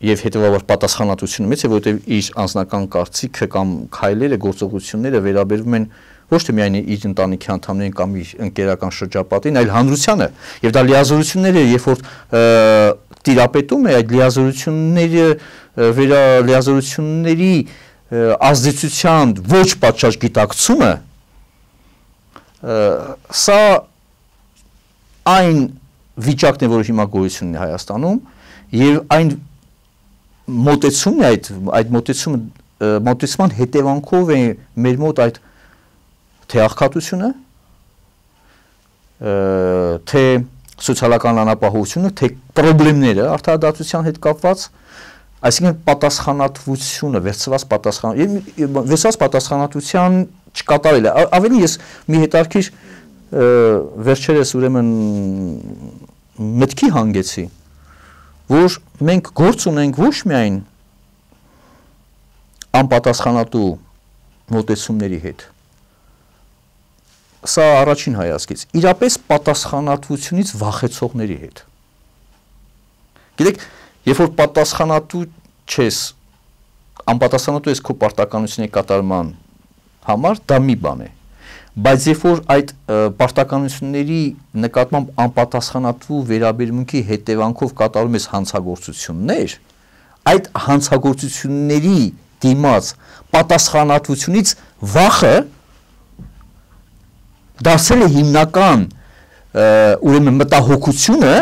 եւ հետեւաբար պատասխանատվությունը մեծ է, որովհետեւ իր անձնական կարծիքը կամ քայլերը, գործողությունները վերաբերվում են ոչ թե միայն իր ընտանիքի անդամներին կամ իր ընկերական շրջապատին, այլ հանրությանը, եւ դա լիազորությունները, երբ որ տիրապետում է այդ լիազորությունները վերա լիազորությունների ազդեցության ոչ պատշաճ գիտակցումը, սա այն վիճակն է, որ հիմա գոյություն ունի Հայաստանում, եւ այն մոտեցումն է, այդ այդ մոտեցումը մոտեցման հետևանքով է մեր մոտ այդ թե աղքատությունը, թե սոցիալական անապահովությունը, թե խնդիրները արդարադատության հետ կապված, այսինքն պատասխանատվությունը, վերցված պատասխան, վերցված պատասխանատվության չկատարելը, ավելի ես մի հետարքիր վերջերս ուրեմն մտքի հանգեցի, որ մենք գործ ունենք ոչ միայն անպատասխանատու մոտեցումների հետ, սա առաջին հայացքից, իրապես պատասխանատվությունից վախեցողների հետ։ Գիտեք, երբ որ պատասխանատու չես, անպատասխանատու ես քո պարտականությունների կատարման համար, դա մի բան է, բայց երբ որ այդ պարտականությունների նկատմամբ անպատասխանատու վերաբերմունքի հետևանքով կատարում ես հանցագործություններ, այդ հանցագործությունների դիմաց պատասխանատվությունից վախը դարձել է հիմնական ուրեմն մտահոգությունը,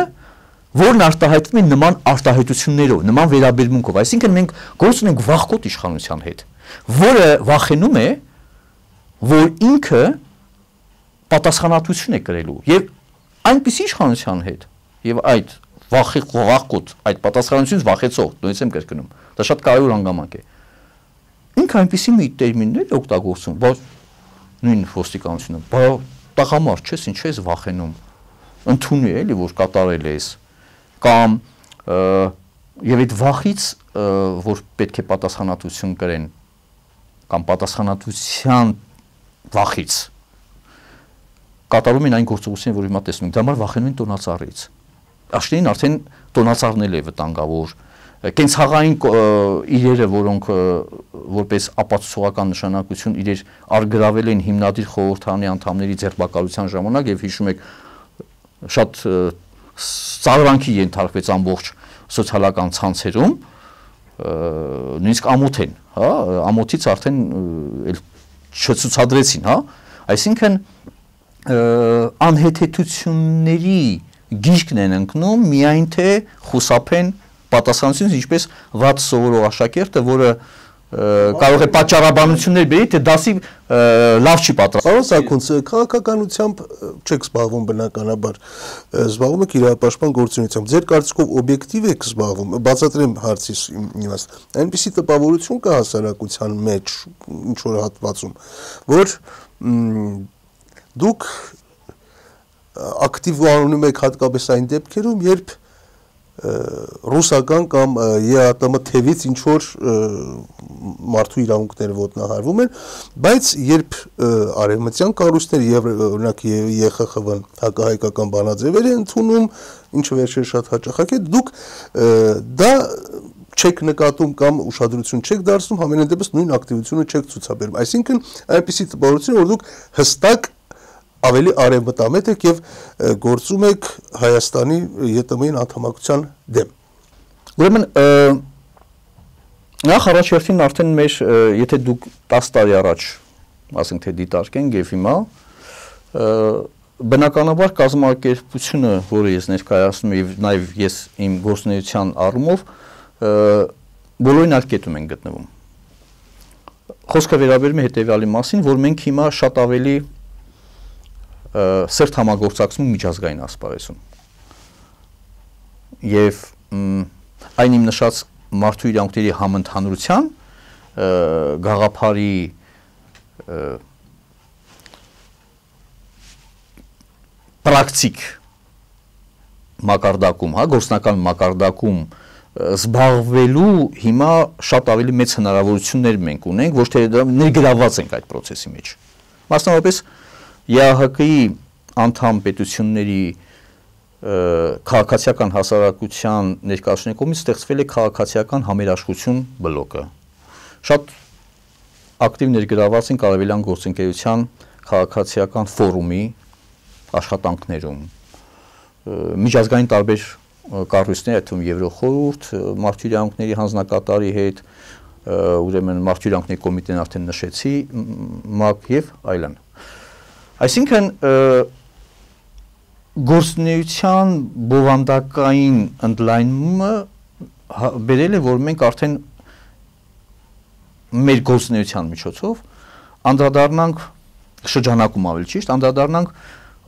որն արտահայտվում է նման արտահայտություններով, նման վերաբերմունքով, այսինքն մենք գործ ունենք վախկոտ իշխանության հետ, որը վախենում է, որ ինքը պատասխանատվություն է կրելու եւ այնպիսի իշխանության հետ եւ այդ վախի վախկոտ այդ պատասխանատվությունից վախեցող, նույնիսկ եմ կրկնում, դա շատ կարևոր հանգամանք է։ Ինքը այնպիսի մի տերմիններ օգտագործում, բայց նույն ոստիկանությունը, բայց տղամարդ չես, ինչ ես վախենում, ընդունի էլի որ կատարել ես, կամ եւ այդ վախից, որ պետք է պատասխանատվություն կրեն, կամ պատասխանատվության վախից կատարում են այն գործողությունները, որ հիմա տեսնում ենք, դա համար վախենում են տոնածառից։ Աշտին արդեն տոնածառն է վտանգավոր, կենցաղային իրերը, որոնք որպես ապացուցողական նշանակություն իրեր արգրավել են հիմնադիր խորհրդարանի անդամների ձերբակալության ժամանակ եւ հիշում եք շատ ծաղրանքի ենթարկվեց ամբողջ սոցիալական ցանցերում, նույնիսկ ամոթ են, հա, ամոթից արդեն չցուցադրեցին, հա, այսինքն անհեթեթությունների գիրկն են ընկնում միայն թե խուսափեն պատասխանությունից, ինչպես վատ սովորող աշակերտը, որը կարող է պատճառաբանություններ բերի, թե դասի լավ չի պատրաստվում։ Պարոն Սաքունց, քաղաքականությամբ չեք զբաղվում բնականաբար, զբաղվում եք իրավապաշտպան գործունեությամբ։ Ձեր կարծիքով օբյեկտիվ եք զբաղվում, բացատրեմ հարցիս իմաստ։ Այնպիսի տպավորություն կա հասարակության մեջ, ինչ որ հատվածում, որ դուք ակտիվ անունում եք հատկապես այն դեպքերում, երբ ռուսական կամ ԵԱՏՄ թևից ինչ որ մարդու իրավունքները ոտնահարվում են, բայց երբ արևմտյան կառույցները եւ օրինակ ԵԽԽՎ-ն հակահայկական բանաձևեր են ընդունում, ինչը վերջերս շատ հաճախակ է, դուք դա չեք նկատում կամ ուշադրություն չեք դարձնում, համենայն դեպս նույն ակտիվությունը չեք ցուցաբերում։ Այսինքն այնպիսի տպավորություն, որ դուք հստակ ավելի արևմտամետ եք եւ գործում եք Հայաստանի ԵՏՄ-ին անդամակցության դեմ։ Ուրեմն նախ առաջերտին արդեն մեր եթե դուք տասը տարի առաջ ասենք թե դիտարկենք եւ հիմա բնականաբար կազմակերպությունը, որը ես ներկայացնում եմ եւ նաեւ ես իմ գործունեության առումով բոլորին այլ կետում են գտնվում։ Խոսքը վերաբերում է հետեւյալի մասին, որ մենք հիմա շատ ավելի սերտ համագործակցում միջազգային ասպարեզում եւ այն իմ նշած մարդու իրավունքների համընդհանրության գաղափարի պրակտիկ մակարդակում, հա, գործնական մակարդակում զբաղվելու հիմա շատ ավելի մեծ հնարավորություններ մենք ունենք, ոչ թե ներգրավված ենք այդ process-ի մեջ։ Մասնավորապես ԵԱՀԿ-ի անդամ պետությունների քաղաքացիական հասարակության ներկայացուցիչների կողմից ստեղծվել է քաղաքացիական համերաշխություն բլոկը։ Շատ ակտիվ ներգրավված են Արևելյան գործընկերության քաղաքացիական ֆորումի աշխատանքներում։ Միջազգային տարբեր կառույցներ, այդ թվում Եվրոխորհուրդ, մարդու իրավունքների հանձնակատարի հետ, ուրեմն մարդու իրավունքների կոմիտեն արդեն նշեցի, ՄԱԿ եւ այլն։ Այսինքն գործունեության բովանդակային ընդլայնումը բերել է, որ մենք արդեն մեր գործունեության միջոցով անդրադառնանք շրջանակում ավելի ճիշտ, անդրադառնանք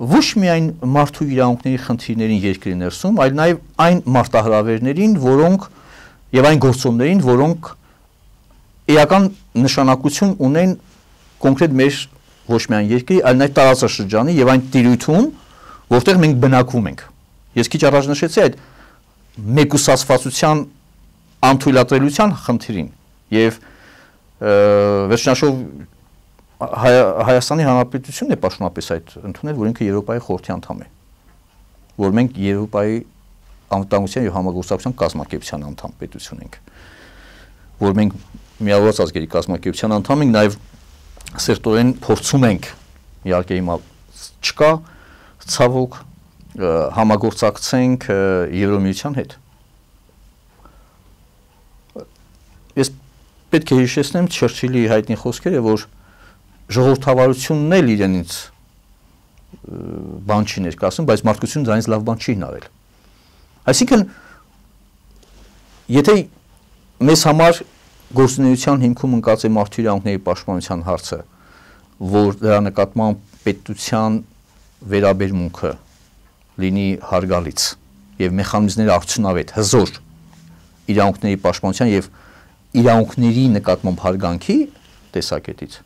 ոչ միայն մարդու իրավունքների խնդիրներին երկրի ներսում, այլ նաև այն մարտահրավերներին, որոնք եւ այն գործոններին, որոնք էական նշանակություն ունեն կոնկրետ մեր ոչ միայն երկրի, այլ նաև տարածաշրջանի եւ այն տիրույթում, որտեղ մենք բնակվում ենք։ Ես քիչ առաջ նշեցի այդ մեկուսացվածության անթույլատրելիության խնդիրին եւ վերջնաշով Հայաստանի Հանրապետությունն է պաշտոնապես այդ ընդունել, որ ինքը Եվրոպայի խորհրդի անդամ է, որ մենք Եվրոպայի անվտանգության եւ համագործակցության կազմակերպության անդամ պետություն ենք, որ մենք միավորված ազգերի կազմակերպության անդամ ենք, նաեւ սերտորեն փորձում ենք իհարկե հիմա չկա, ցավոք համագործակցենք Եվրոմիության հետ։ Ես պետք է հիշեցնեմ Չերչիլի հայտնի խոսքերը, որ ժողովրդավարությունն էլ իրենից բան չի ներկայացնում, բայց մարդկությունը դրանից լավ բան չի հնարել։ Այսինքն, եթե մեզ համար գործունեության հիմքում ընկած է մարդու իրավունքների պաշտպանության հարցը, որ դրա նկատմամբ պետության վերաբերմունքը լինի հարգալից եւ մեխանիզմները արդյունավետ, հզոր իրավունքների պաշտպանության եւ իրավունքների նկատմամբ հարգանքի տեսակետից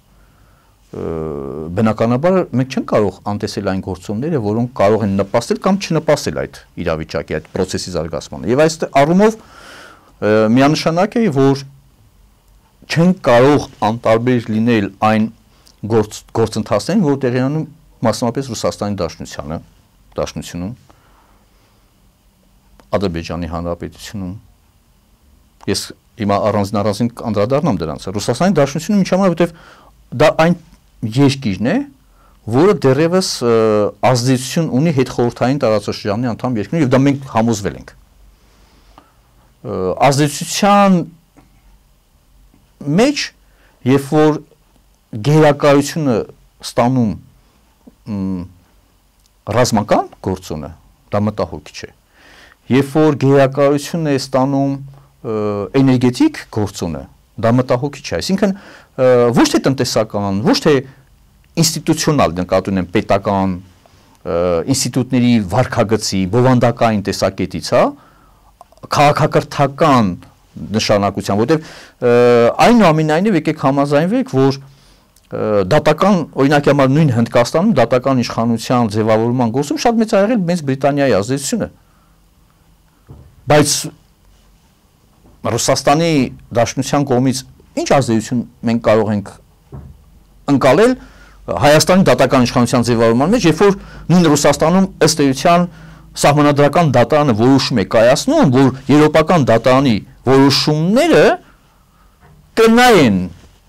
բնականաբար մենք չենք կարող անտեսել այն գործոնները, որոնք կարող են նպաստել կամ չնպաստել այդ իրավիճակի, այդ process-ի զարգացմանը։ Եվ այս առումով միանշանակ է, որ չենք կարող անտարբեր լինել այն գործ, գործընթացներին, որ տեղի ունենում մասնավորապես Ռուսաստանի Դաշնությանը, Դաշնությունում, Ադրբեջանի Հանրապետությունում։ Ես հիմա առանձին առանձին անդրադառնամ դրանց։ Ռուսաստանի Դաշնությունում ինչ համար, որովհետև դա այն երկիրն է, որը դեռևս ազդեցություն ունի հետխորհրդային տարածաշրջանի անդամ երկրներում, եւ դա մենք համոզվել ենք։ Ազդեցության մեջ, երբ որ գերակայությունը ստանում ռազմական գործոնը, դա մտահոգիչ է։ Երբ որ գերակայությունն է ստանում էներգետիկ գործոնը, դա մտահոգիչ է։ Այսինքն ոչ թե տնտեսական, ոչ թե ինստիտուցիոնալ նկատի ունեմ պետական ինստիտուտների վարքագծի, բովանդակային տեսակետից, հա, քաղաքակրթական նշանակության, որտեղ այնուամենայնիվ եկեք համաձայնվեք, որ դատական, օրինակի համար նույն Հնդկաստանում դատական իշխանության ձևավորման գործում շատ մեծ ա եղել Մեծ Բրիտանիայի ազդեցությունը։ Բայց Ռուսաստանի Դաշնության կողմից ինչ ազդեցություն մենք կարող ենք ընկալել Հայաստանի դատական իշխանության ձևավորման մեջ, երբ որ նույն Ռուսաստանում ըստ էության սահմանադրական դատարանը որոշում է կայացնում, որ եվրոպական դատարանի որոշումները կնայեն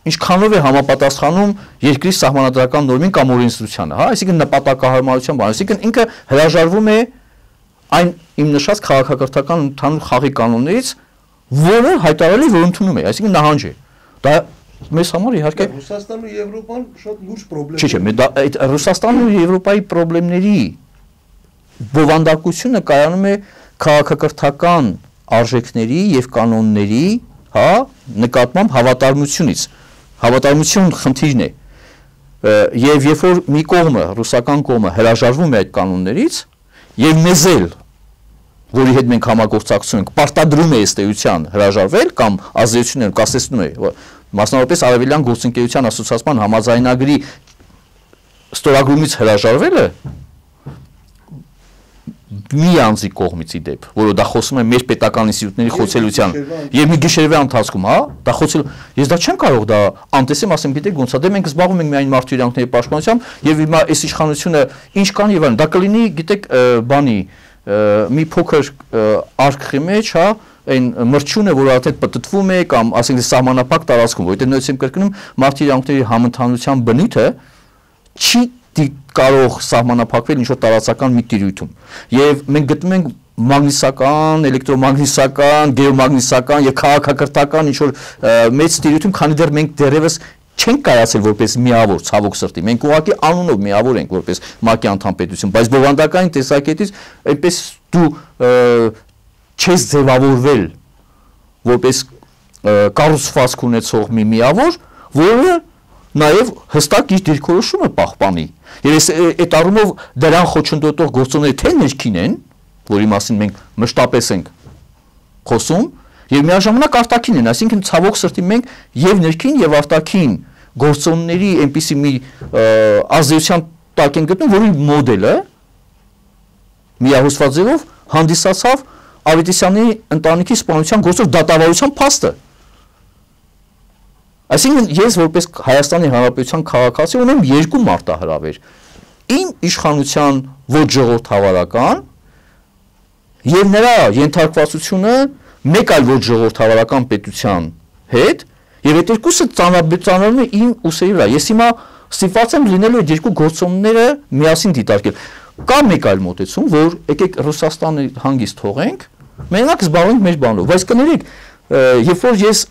ինչքանով է համապատասխանում երկրի սահմանադրական նորմին կամ օրենսդրությանը, հա, այսինքն նպատակահարմարության բան, այսինքն ինքը հրաժարվում է այն իմ նշած քաղաքակրթական ընդհանուր խաղի կանոններից, որը հայտարարել է, որ ընդունում է, այսինքն նահանջ է։ Դա մեզ համար իհարկե Ռուսաստանն ու Եվրոպան շատ լուրջ պրոբլեմ։ Չէ, չէ, դա այդ Ռուսաստանն ու Եվրոպայի պրոբլեմների բովանդակությունը կայանում է քաղաքակրթական արժեքների եւ կանոնների, հա, նկատմամբ հավատարմությունից։ Հավատարմություն խնդիրն է, եւ երբ որ մի կողմը, ռուսական կողմը հրաժարվում է այդ կանոններից եւ մեզ էլ, որի հետ մենք համագործակցում ենք, պարտադրում է ըստ էության հրաժարվել կամ ազդեցություններ կասեցնում է, մասնավորապես Արևելյան գործընկերության ասոցիացիան համաձայնագրի ստորագրումից հրաժարվելը մի անձի կողմից ի դեպ, որը դա խոսում է մեր պետական ինստիտուտների խոցելության եւ մի գիշերվա ընթացքում, հա, դա խոցել, ես դա չեմ կարող դա անտեսեմ, ասեմ, գիտեք ոնց է, դե մենք զբաղվում ենք միայն մարդու իրավունքների պաշտպանությամբ եւ հիմա այս իշխանությունը ինչ կան եւ այլն, դա կլինի, գիտեք, բանի մի փոքր արքխի մեջ, հա, այն մրջյունը, որ արդեն պատտվում է կամ ասենք սահմանափակ տարածքում, որտեղ նույնիսկ եմ կրկնում մարդու իրավունքների համընդհանրության բնույթը չի կարող սահմանափակվել ինչ-որ տարածական մի տիրույթում։ Եվ մենք գտնում ենք մագնիսական, էլեկտրոմագնիսական, գեոմագնիսական եւ քաղաքակրթական ինչ-որ մեծ տիրույթում, քանի դեռ մենք դեռևս չենք կայացել որպես միավոր, ցավոք սրտի։ Մենք ուղղակի անունով միավոր ենք որպես ՄԱԿ-ի անդամ պետություն, բայց բովանդակային տեսակետից այնպես դու չես ձևավորվել որպես կառուցվածք ունեցող մի միավոր, որը նաև հստակ իր դիրքորոշումը պահպանի։ Եվ այս այդ առումով դրան խոչընդոտող գործոնները թե ներքին են, որի մասին մենք մշտապես ենք խոսում, եւ միաժամանակ արտաքին են, այսինքն ցավոք սրտի մենք եւ ներքին եւ արտաքին գործոնների այնպիսի մի ազդեցության տակ են գտնում, որի մոդելը միահոսված ձևով հանդիսացավ Ավետիսյանի ընտանիքի սպանության գործով դատավարության փաստը։ Այսինքն ես որպես Հայաստանի Հանրապետության քաղաքացի ունեմ երկու մարտահրավեր։ Իմ իշխանության ոչ ժողովրդավարական եւ նրա ենթարկվածությունը մեկ այլ ոչ ժողովրդավարական պետության հետ եւ այդ երկուսը ծանրաբերվում է իմ ուսերի վրա։ Ես հիմա Ստիպված եմ լինելու այդ երկու գործոնները միասին դիտարկել։ Կա մեկ այլ մոտեցում, որ եկեք Ռուսաստանը հանգիստ թողենք, մենակ զբաղվենք մեր բանով, բայց կներեք, երբ որ ես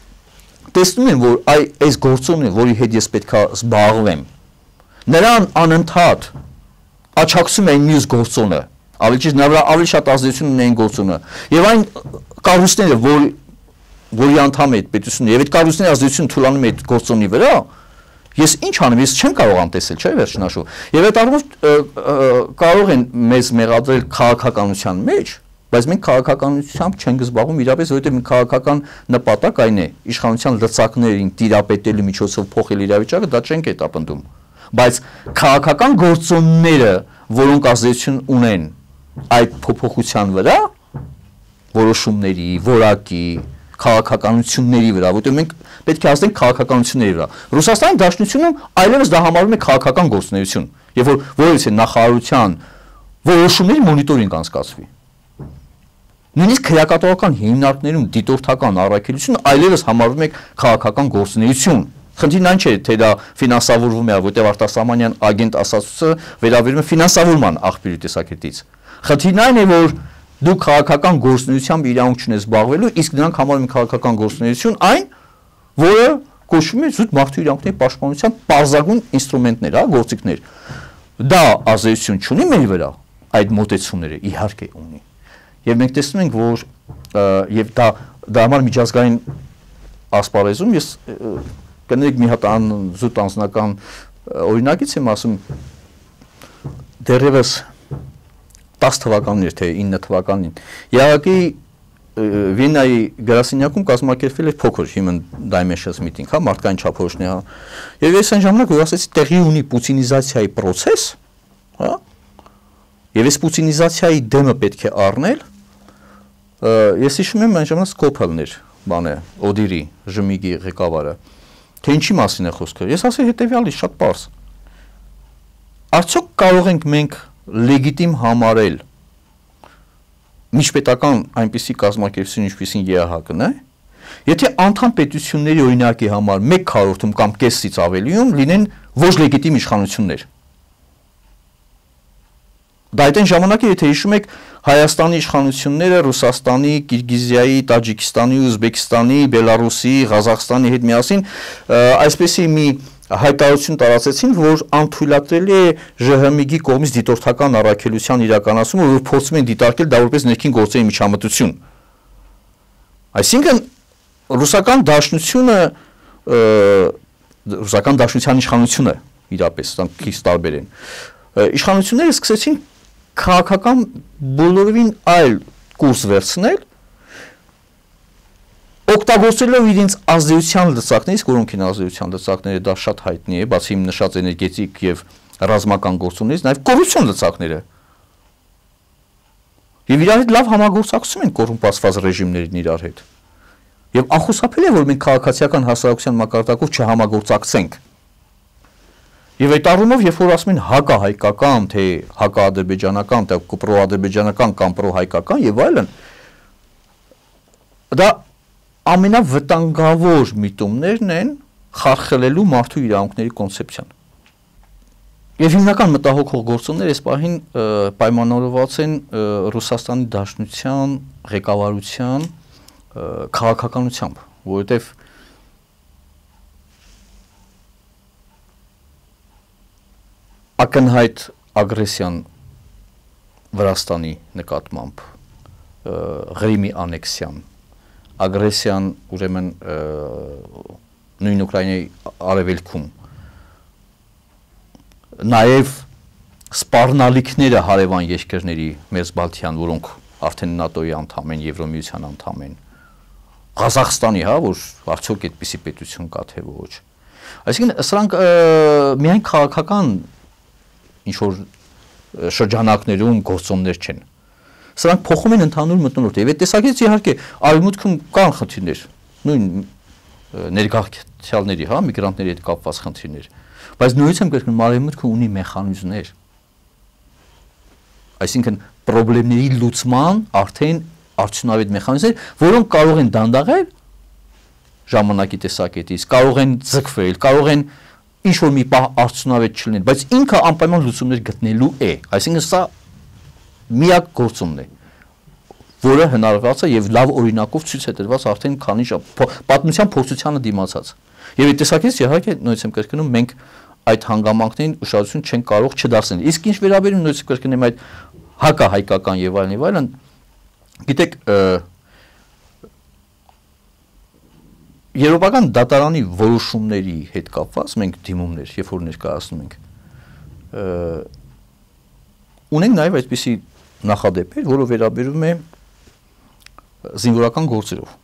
տեսնում եմ, որ այ այս գործոնը, որի հետ ես պետք է զբաղվեմ, նրան անընդհատ աչակցում է մյուս գործոնը, ավելի ճիշտ նրա ավելի շատ ազդեցություն ունի այն գործոնը, եւ այն կառույցները, որ որի անդամ է այդ պետությունը, եւ այդ կառույցների ազդեցությունը թույլանում է այդ գործոնի վրա, ես ինչ անեմ, ես չեմ կարող անտեսել, չէ՞, վերջնաշու։ Եվ այդ առումով կարող են մեզ մեղադրել քաղաքականության մեջ, բայց մենք քաղաքականությամբ չենք զբաղվում իրապես, որովհետև մենք քաղաքական նպատակ այն է իշխանության լծակներին տիրապետելու միջոցով փոխել իրավիճակը, դա չենք հետապնդում։ Բայց քաղաքական գործոնները, որոնք ազդեցություն ունեն այդ փոփոխության վրա, որոշումների, որակի, քաղաքականությունների վրա, որտեղ մենք պետք է ազդենք քաղաքականությունների վրա։ Ռուսաստանի Դաշնությունում այլևս դա համարվում է քաղաքական գործունեություն, եւ որ որովհետեւ նախարարության որոշումների մոնիտորինգ անցկացվի։ Նույնիսկ քրեակատորական հիմնարկներում դիտորդական առաքելությունը այլևս համարվում է քաղաքական գործունեություն։ Խնդիրն այն չէ, թե դա ֆինանսավորվում է, որտեղ արտասահմանյան ագենտ ասացուցը վերաբերում է ֆինանսավորման աղբյուրի տեսակետից։ Խնդիրն այն է, որ դու քաղաքական գործունեությամբ իրավունք չունես զբաղվելու, իսկ նրանք համարում են քաղաքական գործունեություն այն, որը կոչվում է զուտ մարդու իրավունքների պաշտպանության պարզագույն ինստրումենտներ, հա, գործիքներ։ Դա ազդեցություն չունի մեր վրա, այդ մոտեցումները իհարկե ունի։ Եվ մենք տեսնում ենք, որ եւ դա դա համար միջազգային ասպարեզում ես կներեք մի հատ զուտ անձնական օրինակից եմ ասում, դեռևս տասը թվականին էր, թե ինը թվականին Իրաքի Վիեննայի գրասենյակում կազմակերպվել էր փոքր Human Dimensions meeting, հա, մարդկային չափորոշնի, հա։ Եվ ես այն ժամանակ որ ասեցի տեղի ունի պուտինիզացիայի process, հա։ Եվ այս պուտինիզացիայի դեմը պետք է առնել, ես հիշում եմ այն ժամանակ Սկոփելն էր, բանը, Օդիրի, Ժմիգի ղեկավարը, թե ինչի մասին է խոսքը։ Ես ասեցի հետեւյալի, շատ պարզ։ Արդյոք կարող ենք մենք լեգիտիմ համարել միջպետական այնպիսի կազմակերպություն, ինչպիսին Է Ահ Կ-ն է, եթե անդամ պետությունների օրինակի համար մեկ քառորդում կամ կեսից ավելիում լինեն ոչ լեգիտիմ իշխանություններ։ Դա այդ այն ժամանակը, եթե հիշում եք, Հայաստանի իշխանությունները Ռուսաստանի, Կիրգիզիայի, Տաջիկստանի, Ուզբեկստանի, Բելարուսի, Ղազախստանի հետ միասին այսպեսի մի հայտարարություն տարածեցին, որ անթույլատրելի է Ժ Հ Մի Գ-ի կողմից դիտորդական առաքելության իրականացումը, որ փորձում են դիտարկել դա որպես ներքին գործերի միջամտություն։ Այսինքն ռուսական դաշնությունը, ռուսական դաշնության իշխանությունը իրապես քիչ տարբեր են։ Իշխանությունները սկսեցին քաղաքական բոլորովին այլ կուրս վերցնել, օգտագործելով իրենց ազդեցության լծակներից, որոնք են ազդեցության լծակները, դա շատ հայտնի է, բացի իմ նշած էներգետիկ եւ ռազմական գործոններից, նաեւ կոռուպցիոն լծակները։ Եվ իրար հետ լավ համագործակցում են կոռումպացված ռեժիմներն իրար հետ։ Եվ անխուսափելի է, որ մենք քաղաքացիական հասարակության մակարդակով չհամագործակցենք։ Եվ այդ առումով, երբ որ ասում են հակահայկական, թե հակաադրբեջանական, թե պրոադրբեջանական կամ պրոհայկական եւ այլն, դա ամենավտանգավոր միտումներն են խարխլելու մարդու իրավունքների կոնցեպցիան։ Եվ հիմնական մտահոգող գործոնները այս պահին պայմանավորված են Ռուսաստանի Դաշնության ղեկավարության քաղաքականությամբ, որովհետև ակնհայտ ագրեսիան Վրաստանի նկատմամբ, Ղրիմի անեքսիան, ագրեսիան ուրեմն նույն Ուկրաինայի արևելքում, նաև սպառնալիքները հարևան երկրների մեծ Բալթյան, որոնք արդեն ՆԱՏՕ-ի անդամ են, Եվրոմիության անդամ են, Ղազախստանի, հա, որ արդյոք այդպիսի պետություն կա թե ոչ։ Այսինքն սրանք միայն քաղաքական ինչ որ շրջանակներում գործոններ չեն։ Սրանք փոխում են ընդհանուր մթնոլորտը։ Եվ այդ տեսակետից իհարկե արևմուտքում կան խնդիրներ, նույն ներգաղթյալների, հա, միգրանտների հետ կապված խնդիրներ, բայց նույնիսկ կրկնում արևմուտքը ունի մեխանիզմներ։ Այսինքն խնդիրների լուծման արդեն արդյունավետ մեխանիզմներ, որոնք կարող են դանդաղել ժամանակի տեսակետից, կարող են ձգվել, կարող են ինչ որ մի պահ արդյունավետ չլիներ, բայց ինքը անպայման լուծումներ գտնելու է, այսինքն սա միակ գործոնն է, որը հնարավորացա եւ լավ օրինակով ցույց է տրված արդեն քանի պատմության փորձությանը դիմացած։ Եվ այդ տեսակետից իհարկե նույնիսկ եմ կրկնում մենք այդ հանգամանքներին ուշադրություն չեն կարող չդարձնել։ Իսկ ինչ վերաբերում նույնիսկ կրկնեմ այդ հակահայկական եւ այլն եւ այլն, գիտեք, Եվրոպական դատարանի որոշումների հետ կապված մենք դիմումներ, երբ որ ներկայացնում ենք, ունենք նաև այսպիսի նախադեպեր, որը վերաբերում է զինվորական գործերով։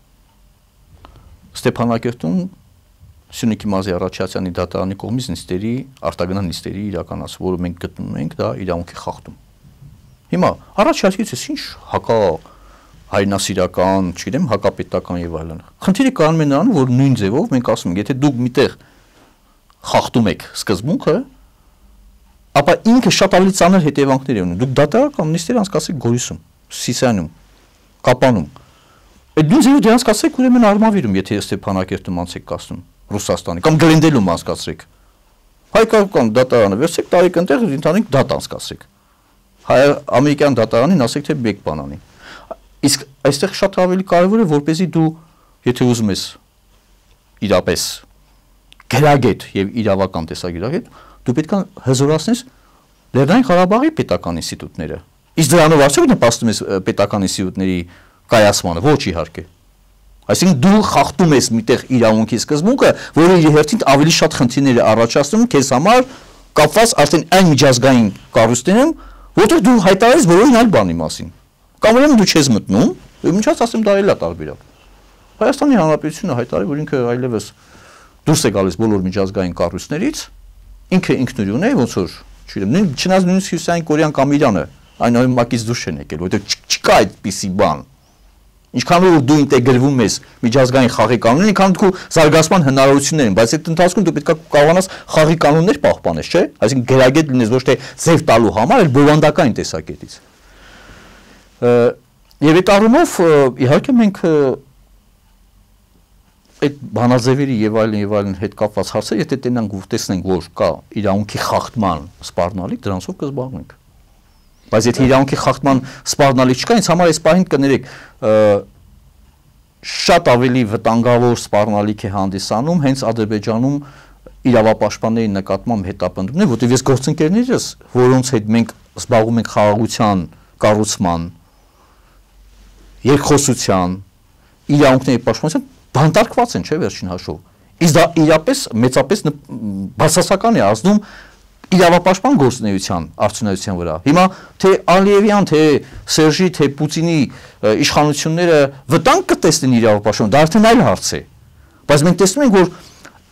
Ստեփանակերտում Սյունիքի մարզի Արաչյացյանի դատարանի կողմից նիստերի, արտագնան նիստերի իրականացում, որը մենք գտնում ենք, դա իրավունքի խախտում։ Հիմա Արաչյացից ինչ հակա հայրենասիրական, չգիտեմ, հակապետական եւ այլն։ Խնդիրը կանում է նրանում, որ նույն ձևով մենք ասում ենք, եթե դուք միտեղ խախտում եք սկզբունքը, ապա ինքը շատ ավելի ծանր հետևանքներ ունի։ Դուք դատարական նիստեր անցկացրեք Գորիսում, Սիսիանում, Կապանում։ Այդ նույն ձևով դրանց անցկացրեք ուրեմն Արմավիրում, եթե Ստեփանակերտում անցեք կասում, Ռուսաստանի կամ Գլենդելում անցկացրեք։ Հայկական դատարանը վերցրեք, տարեք այնտեղ ընդհանրիկ դատ անցկացրեք։ Հայ ամերիկյան դատարանին ասեք թե մեկ բան անի։ Իսկ այստեղ շատ ավելի կարևոր է, որպեսզի դու, եթե ուզում ես իրապես գրագետ եւ իրավական տեսագիրագետ, դու պետք է հզորացնես Լեռնային Ղարաբաղի պետական ինստիտուտները։ Իսկ դրանով արդյոք նպաստում ես պետական ինստիտուտների կայացմանը, ոչ իհարկե։ Այսինքն դու խախտում ես միտեղ իրավունքի սկզբունքը, որը իր հերթին ավելի շատ խնդիրներ է առաջացնում քեզ համար կապված արդեն այն միջազգային կառույցներում, որտեղ դու հայտարարես բոլորին այլ բանի մասին։ Կամ ուրեմն դու չես մտնում, եւ ինչած ասեմ դա էլ է տարբերակ։ Հայաստանի Հանրապետությունը հայտարարի, որ ինքը այլևս դուրս է գալիս բոլոր միջազգային կառույցներից, ինքը ինքնուրույն է, ոնց որ, չգիտեմ, չնայած նույնիսկ Հյուսիսային Կորեան կամ Իրանը այն այմակից դուրս չեն եկել, որովհետեւ չկա այդպիսի բան։ Ինչքան որ դու ինտեգրվում ես միջազգային խաղի կանոնին, ինքան դու զարգացման հնարավորություններ են, բայց այդ ընթացքում դու պետք է կարողանաս խաղի կանոններ պահպանես, չէ՞։ Այսինքն գրագետ լինես ոչ թե ձև տալու համար, այլ բովանդակային տեսակետից։ Եվ այդ առումով իհարկե մենք այդ բանաձևերի եւ այլն եւ այլն հետ կապված հարցեր, եթե տենանք ու տեսնենք, որ կա իրավունքի խախտման սպառնալիք, դրանցով կզբաղվենք։ Բայց եթե իրավունքի խախտման սպառնալիք չկա, ինձ համար այս պահին կներեք շատ ավելի վտանգավոր սպառնալիք է հանդիսանում հենց Ադրբեջանում իրավապաշտպանների նկատմամբ հետապնդումներ, որտեղ ես գործընկերներս, որոնց հետ մենք զբաղվում ենք խաղաղության կառուցման, երկխոսության, իրավունքների պաշտպանության, բանտարկված են, չէ՞, վերջին հաշվով։ Իսկ դա իրապես մեծապես բացասական է ազդում իրավապաշտպան գործունեության արդյունավետության վրա։ Հիմա թե Ալիևյան, թե Սերժի, թե Պուտինի իշխանությունները վտանգ կտեսնեն իրավապաշտպան, դա արդեն այլ հարց է։ Բայց մենք տեսնում ենք, որ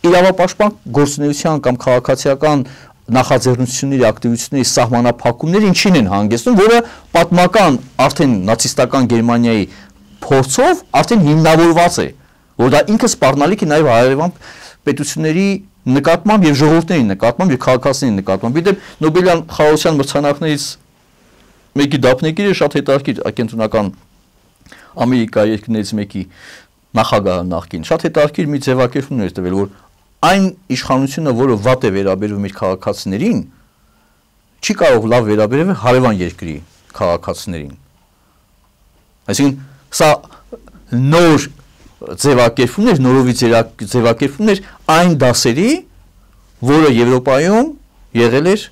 իրավապաշտպան գործունեության կամ քաղաքացիական նախաձեռնությունների ակտիվությունների սահմանափակումները ինչին են հանգեցնում, որը պատմական արդեն նացիստական Գերմանիայի փորձով արդեն հիմնավորված է, որ դա ինքը սպառնալիք է նաև հարևան պետությունների նկատմամբ եւ ժողովուրդների նկատմամբ եւ քաղաքացիների նկատմամբ։ Իդեպ Նոբելյան խաղաղության մրցանակներից մեկի դափնեկիրը շատ հետաքրքիր կենտրոնական Ամերիկայի երկրներից մեկի նախագահը նախկին շատ հետաքրքիր մի ձևակերպում էր տվել, որ այն իշխանությունը, որը վատ է վերաբերվում իր քաղաքացիներին, չի կարող լավ վերաբերվել հարևան երկրի քաղաքացիներին։ Այսինքն սա նոր ձևակերպումներ, նորովի ձևակերպումներ այն դասերի, որը Եվրոպայում եղել էր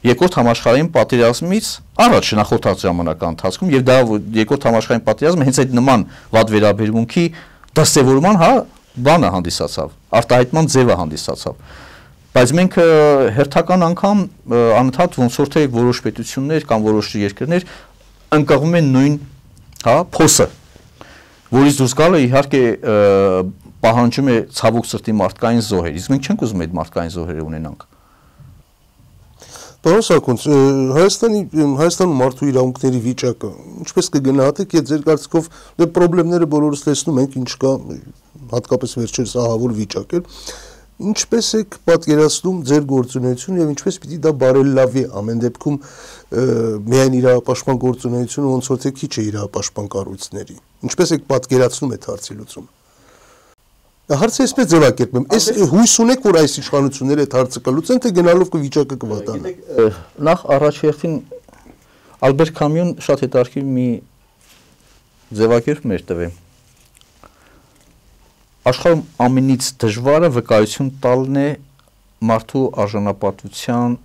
երկրորդ համաշխարհային պատերազմից առաջ նախորդած ժամանական ընթացքում եւ դա երկրորդ համաշխարհային պատերազմը հենց այդ նման վատ վերաբերմունքի դասավորման, հա, բանը հանդիսացավ, արտահայտման ձևը հանդիսացավ։ Բայց մենք հերթական անգամ անընդհատ ոնց որ թե որոշ պետություններ կամ որոշ երկրներ ընկղվում են նույն, հա, փոսը, որից դուրս գալը իհարկե պահանջում է ցավոք սրտի մարդկային զոհեր, իսկ մենք չենք ուզում այդ մարդկային զոհերը ունենանք։ Պարոն Սարգսյան, Հայաստանի Հայաստանում մարդու իրավունքների վիճակը ինչպես կգնահատեք, եթե ձեր կարծիքով դե խնդիրները բոլորս տեսնում ենք, ինչ կա, հատկապես վերջերս ահավոր վիճակ է, ինչպես եք պատկերացնում ձեր գործունեությունը եւ ինչպես պիտի դա բարելավի ամեն դեպքում միայն իրավապաշտպան գործունեությունը ոնց որ թե քիչ է իրավապաշտպան կառույցների։ Ինչպես եք պատկերացնում այդ հարցի լուծումը։ Հարցը այսպես ձևակերպեմ, այս հույս ունեք, որ այս իշխանությունները այդ հարցը կլուծեն, թե գնալով կվիճակը կվատանա։ Նախ առաջ հերթին Ալբերտ Կամյուն շատ հետաքրքիր մի ձևակերպում էր տվել։ Աշխարհում ամենից դժվարը վկայություն տալն է մարդու արժանապատվության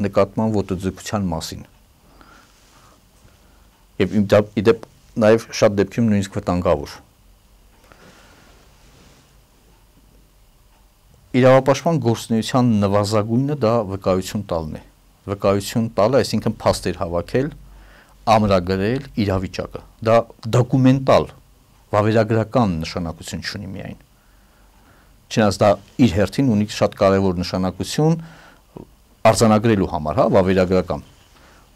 նկատմամբ ոտոձգության մասին։ Եվ իդեպ նաև շատ դեպքերում նույնիսկ վտանգավոր։ Իրավապաշտպան գործունեության նվազագույնը դա վկայություն տալն է։ Վկայություն տալը, այսինքն փաստեր հավաքել, ամրագրել իրավիճակը։ Դա դոկումենտալ, վավերագրական նշանակություն ունի միայն։ Չնայած դա իր հերթին ունի շատ կարևոր նշանակություն արձանագրելու համար, հա, վավերագրական։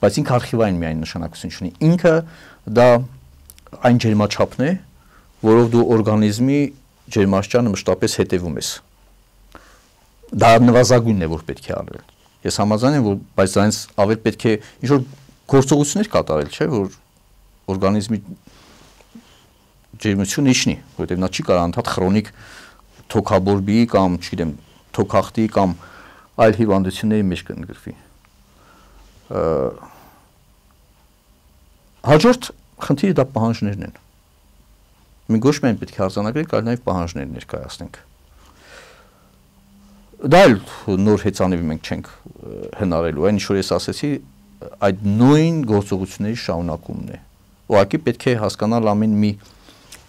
Բայց ինքը արխիվային միայն նշանակություն ունի։ Ինքը դա այն ջերմաչափն է, որով դու օրգանիզմի ջերմաստիճանը մշտապես հետևում ես։ Դա նվազագույնն է, որ պետք է արվել։ Ես համաձայն եմ, որ բայց դրանից ավել պետք է ինչ-որ գործողություններ կատարել, չէ՞, որ օրգանիզմի ջերմությունը իջնի, որովհետև նա չի կարող անդադ քրոնիկ թոքաբորբի կամ, չգիտեմ, թոքախտի կամ այլ հիվանդությունների մեջ կընդգրկվի։ Հաջորդ խնդիրը դա պահանջներն են։ Մենք ոչ միայն պետք է արձանագրենք, այլ նաև պահանջներ ներկայացնենք։ Դա էլ նոր հեծանիվ մենք չենք հնարելու, այն ինչ որ ես ասեցի, այդ նույն գործողությունների շարունակումն է։ Ուղղակի պետք է հասկանալ ամեն մի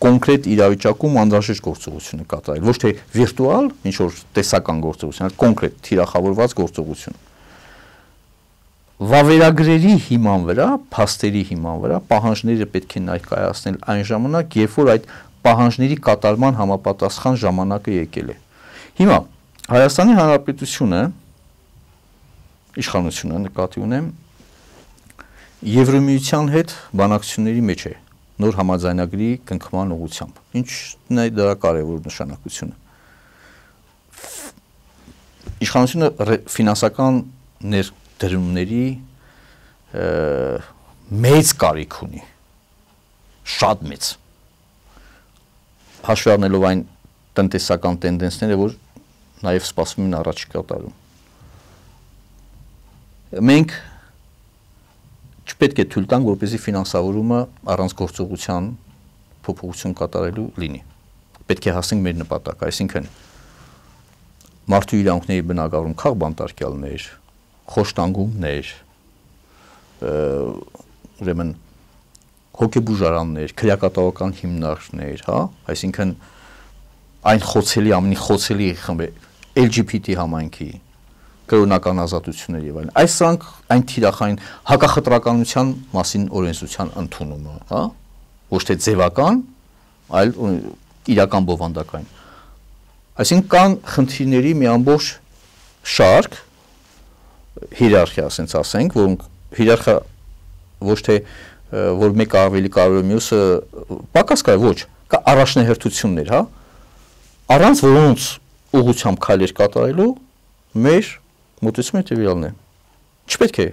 կոնկրետ իրավիճակում անհրաժեշտ գործողությունը կատարել, ոչ թե վիրտուալ, ինչ որ տեսական գործողություն, այլ կոնկրետ թիրախավորված գործողություն։ Վավերագրերի հիման վրա, փաստերի հիման վրա պահանջները պետք է ներկայացնել այն ժամանակ, երբ որ այդ պահանջների կատարման համապատասխան ժամանակը եկել է։ Հիմա Հայաստանի Հանրապետությունը իշխանությունը նկատի ունեմ Եվրամիության հետ բանակցությունների մեջ է նոր համաձայնագրի կնքման ուղղությամբ։ Ինչն է դրա կարևոր նշանակությունը։ Իշխանությունը ֆինանսական ներդրումների մեծ կարիք ունի, շատ մեծ։ Հաշվի առնելով այն տնտեսական տենդենսները, որ նաև սպասվում են առաջիկա տարում։ Մենք չպետք է թույլ տանք, որպեսզի ֆինանսավորումը առանց գործողության փոփոխություն կատարելու լինի։ Պետք է հասնենք մեր նպատակը, այսինքն մարդու իրավունքների բնագավառում քաղբանտարկյալներ, խոշտանգումներ, ուրեմն հոգեբուժարաններ, քրեակատավական հիմնարկներ, հա, այսինքն այն խոցելի, ամենի խոցելի խմբը L G B T համայնքի կրոնական ազատություններ եւ այլն։ Այս սրանք այն թիրախային հակախտրականության մասին օրենսդրության ընդունումը, հա, ոչ թե ձևական, այլ իրական բովանդակային։ Այսինքն կան խնդիրների մի ամբողջ շարք, հիերարխիա, ասենք ասենք, որոնք հիերարխիա ոչ թե որ մեկը ավելի կարևոր է մյուսը պակաս կա, ոչ, կա առաջնահերթություններ, հա, առանց որոնց ուղղությամբ քայլեր կատարելու մեր մոտեցումը տվյալն է։ Չպետք է։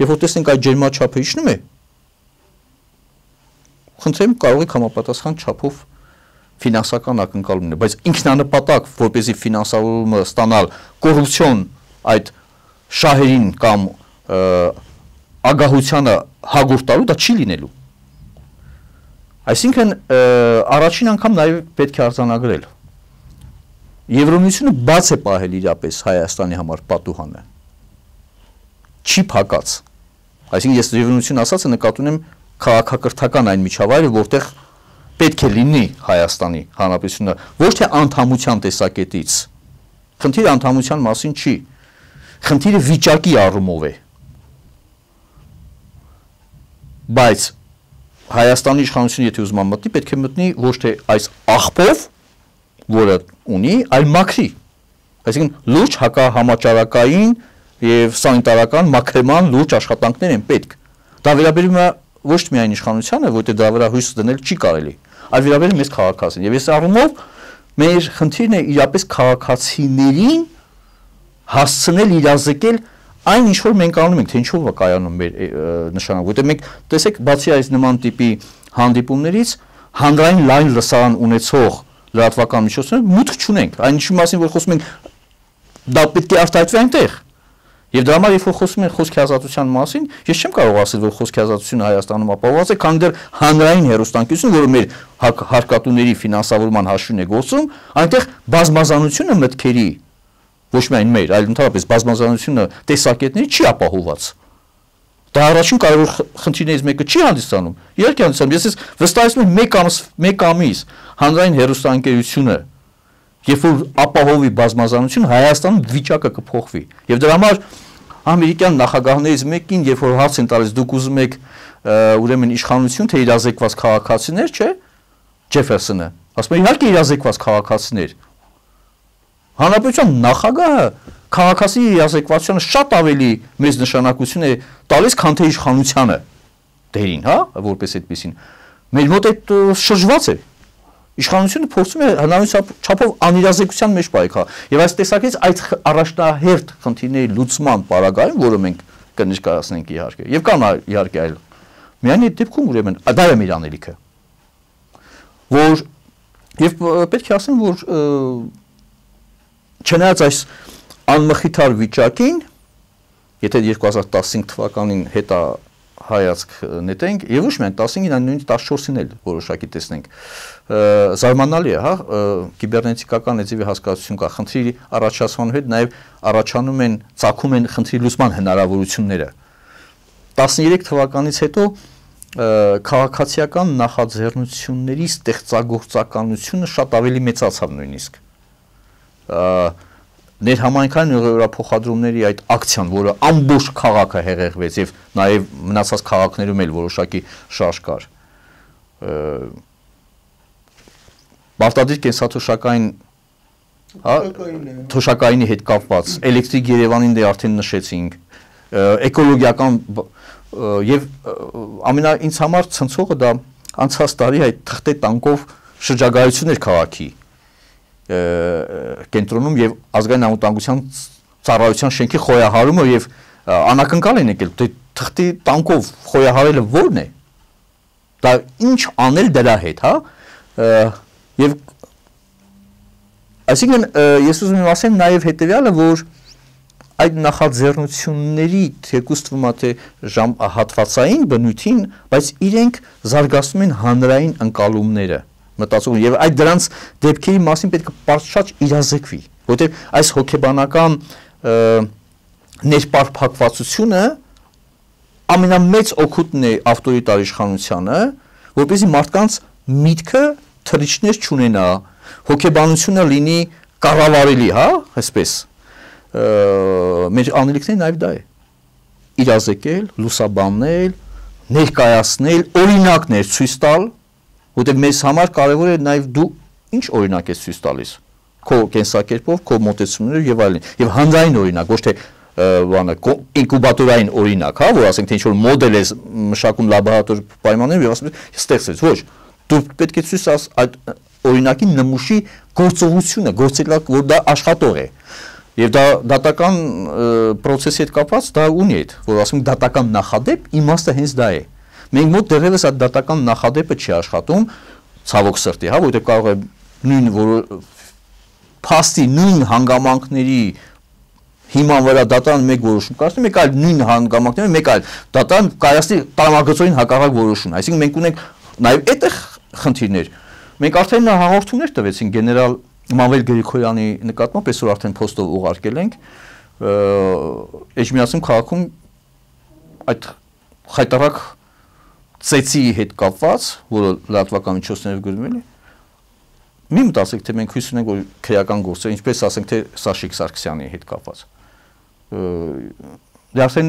Երբ որ տեսնենք այդ ջերմաչափը իջնում է, խնդրեմ կարող եք համապատասխան չափով ֆինանսական ակնկալումներ, բայց ինքնանպատակ, որպեսզի ֆինանսավորումը ստանալ կոռուպցիոն այդ շահերին կամ ագահությանը հագուրտ տալու, դա չի լինելու։ Այսինքն առաջին անգամ նաև պետք է արձանագրել։ Եվրամիությունը բաց է պահել իրապես Հայաստանի համար պատուհանը։ Չի փակած։ Այսինքն ես Եվրամիություն ասածը նկատի ունեմ քաղաքակրթական այն միջավայրը, որտեղ պետք է լինի Հայաստանի Հանրապետությունը, ոչ թե անդամության տեսակետից։ Խնդիրը անդամության մասին չի։ Խնդիրը վիճակի առումով է։ Բայց Հայաստանի իշխանությունը եթե ուզում մտնի, պետք է մտնի ոչ թե այս աղբով, որը ունի, այլ մաքրի։ Այսինքն լուրջ հակահամաճարակային եւ սանիտարական մաքրման լուրջ աշխատանքներ են պետք։ Դա վերաբերում է ոչ միայն իշխանությանը, որտեղ դրա վրա հույս դնել չի կարելի, այլ վերաբերում է մեզ քաղաքացին։ Եվ այս առումով մեր խնդիրն է իրապես քաղաքացիներին հասցնել իրազեկել այն ինչ որ մենք անում ենք, թե ինչով է կայանում մեր նշանակը, որտեղ մենք տեսեք, բացի այս նման տիպի հանդիպումներից հանրային լայն լսարան ունեցող լրատվական միջոցները մուտք չունենք, այն ինչի մասին որ խոսում ենք դա պետք է արտահայտվի այնտեղ։ Եվ դրա համար երբ որ խոսում են խոսքի ազատության մասին, ես չեմ կարող ասել, որ խոսքի ազատությունը Հայաստանում ապահովված է, քանի դեռ հանրային հեռուստաընկերությունը, որը մեր հարկատուների ֆինանսավորման հաշվին է գործում, այնտեղ բազմազանությունը մտքերի, ոչ միայն մեր, այլ ընդհանրապես բազմազանությունը տեսակետների չի ապահովված։ Դա առաջին կարևոր խնդիրներից մեկը չի հանդիսանում։ Իհարկե հանդիսանում, ես վստահեցնում եմ մեկ ամիս, մեկ ամիս հանրային հեռուստաընկերությունը երբ որ ապահովի բազմազանություն Հայաստանում վիճակը կփոխվի։ Եվ դրա համար ամերիկյան նախագահներից մեկին, երբ որ հարց են տալիս, դուք ուզում եք ուրեմն իշխանություն, թե իրազեկված քաղաքացիներ, չէ՞, Ջեֆերսոնը, ասում է իհարկե իրազեկված քաղաքացիներ։ Հանրապետության նախագահը քաղաքացի իրազեկվածությանը շատ ավելի մեծ նշանակություն է տալիս, քան թե իշխանությանը դերին, հա, որպես այդպեսին։ Մեր մոտ այդ շրջված է։ Իշխանությունը փորձում է հնարավորինս չափով անիրազեկության մեջ պայքարել։ Եվ այս տեսակետից այդ առաջնահերթ խնդիրների լուծման պարագայում, որը մենք կներկայացնենք իհարկե, եւ կան իհարկե այլ։ Միայն այդ դեպքում ուրեմն դա է մեր անելիքը։ Որ եւ պետք է ասեմ, որ չնայած այս անմխիթար վիճակին, եթե երկու հազար տասնհինգ թվականին հետա հայացք նետենք, եւ ոչ միայն տասնհինգին, այլ նույնիսկ տասնչորսին էլ որոշակի տեսնենք, զարմանալի է, հա, կիբերնետիկական էջի հասկացություն կա, խնդրի առաջացման հետ նաեւ առաջանում են, ծագում են խնդրի լուծման հնարավորությունները։ տասներեք թվականից հետո քաղաքացիական նախաձեռնությունների ստեղծագործականությունը շատ ավելի մեծացավ նույնիսկ։ Ներհամայնքային ուղղափոխադրումների այդ ակցիան, որը ամբողջ քաղաքը հեղեղվեց եւ նաեւ մնացած քաղաքներում էլ որոշակի շարժ կար։ Բարտադիր կենսաթոշակային, հա, թոշակայինի հետ կապված, էլեկտրիկ Երևանին դե արդեն նշեցինք, էկոլոգիական եւ ամենա ինձ համար ցնցողը դա անցած տարի այդ թղթե տանկով շրջագայություն էր քաղաքի կենտրոնում եւ ազգային անվտանգության ծառայության շենքի խոյահարումը եւ անակնկալ են եկել, թե թղթի տանկով խոյահարելը ո՞րն է։ Դա ինչ անել դրա հետ, հա։ Եվ այսինքն ես ուզում եմ ասեմ նաեւ հետեւյալը, որ այդ նախաձեռնությունների թեկուզ թվում է թե ժամ հատվածային բնույթին, բայց իրենք զարգացնում են հանրային ընկալումները, մտածում եւ այդ դրանց դեպքերի մասին պետք է պատշաճ իրազեկվի, որովհետեւ այս հոգեբանական ներպարփակվածությունը ամենամեծ օգուտն է ավտորիտար իշխանությանը, որպեսզի մարդկանց միտքը թռիչքներ չունենա, հոգեբանությունը լինի կառավարելի, հա, այսպես մեր անելիքները նաև դա է իրազեկել, լուսաբանել, ներկայացնել, օրինակներ ցույց տալ, որտեղ մեզ համար կարևոր է նաև դու ինչ օրինակ ես ցույց տալիս, քո կենսակերպով, քո մոտեցումներով եւ այլն, եւ հանրային օրինակ, ոչ թե բանը ինկուբատորային օրինակ, հա, որ ասենք թե ինչ որ մոդել է մշակում լաբորատոր պայմաններում եւ ասում ես ստեղծեց, ոչ, դու պետք է ցույց տաս այդ օրինակի նմուշի գործողությունը, գործելակ, որ դա աշխատող է։ Եվ դա դատական process-ի հետ կապված դա ունի այդ, որ ասում ենք դատական նախադեպ, իմաստը հենց դա է։ Մենք մոտ դեռևս այդ դատական նախադեպը չի աշխատում, ցավոք սրտի, հա, որտեղ կարող է նույն որ փաստի նույն հանգամանքների հիման վրա դատարան մեկ որոշում կայացնի, մեկ այլ նույն հանգամանքների, մեկ այլ դատարան կայացնի տրամագծային հակառակ որոշում։ Այսինքն մենք ունենք նաև այդտեղ խնդիրներ։ Մենք արդեն հաղորդումներ տվեցինք գեներալ Մանվել Գրիգորյանի նկատմամբ, այսօր արդեն փոստով ուղարկել ենք Էջմիածնում քաղաքում այդ խայտարակ ծեծի հետ կապված, որը լրատվական միջոցներով գրվում է, մի մտածեք, թե մենք հույս ունենք, որ քրեական գործեր, ինչպես ասենք, թե Սաշիկ Սարգսյանի հետ կապված։ Դե արդեն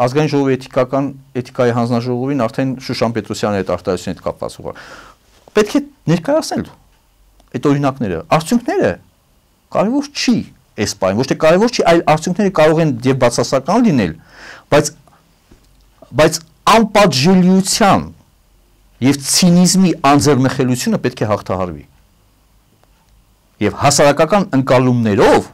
ազգային ժողովի էթիկական էթիկայի հանձնաժողովին արդեն Շուշան Պետրոսյանի հետ արտահայտության հետ կապված ուղղ։ Պետք է ներկայացնել այդ օրինակները, արդյունքները կարևոր չի այս բանը, ոչ թե կարևոր չի, այլ արդյունքները կարող են եւ բացասական լինել, բայց բայց անպատժելիության եւ ցինիզմի անձեռնխելությունը պետք է հաղթահարվի։ Եվ հասարակական ընկալումներով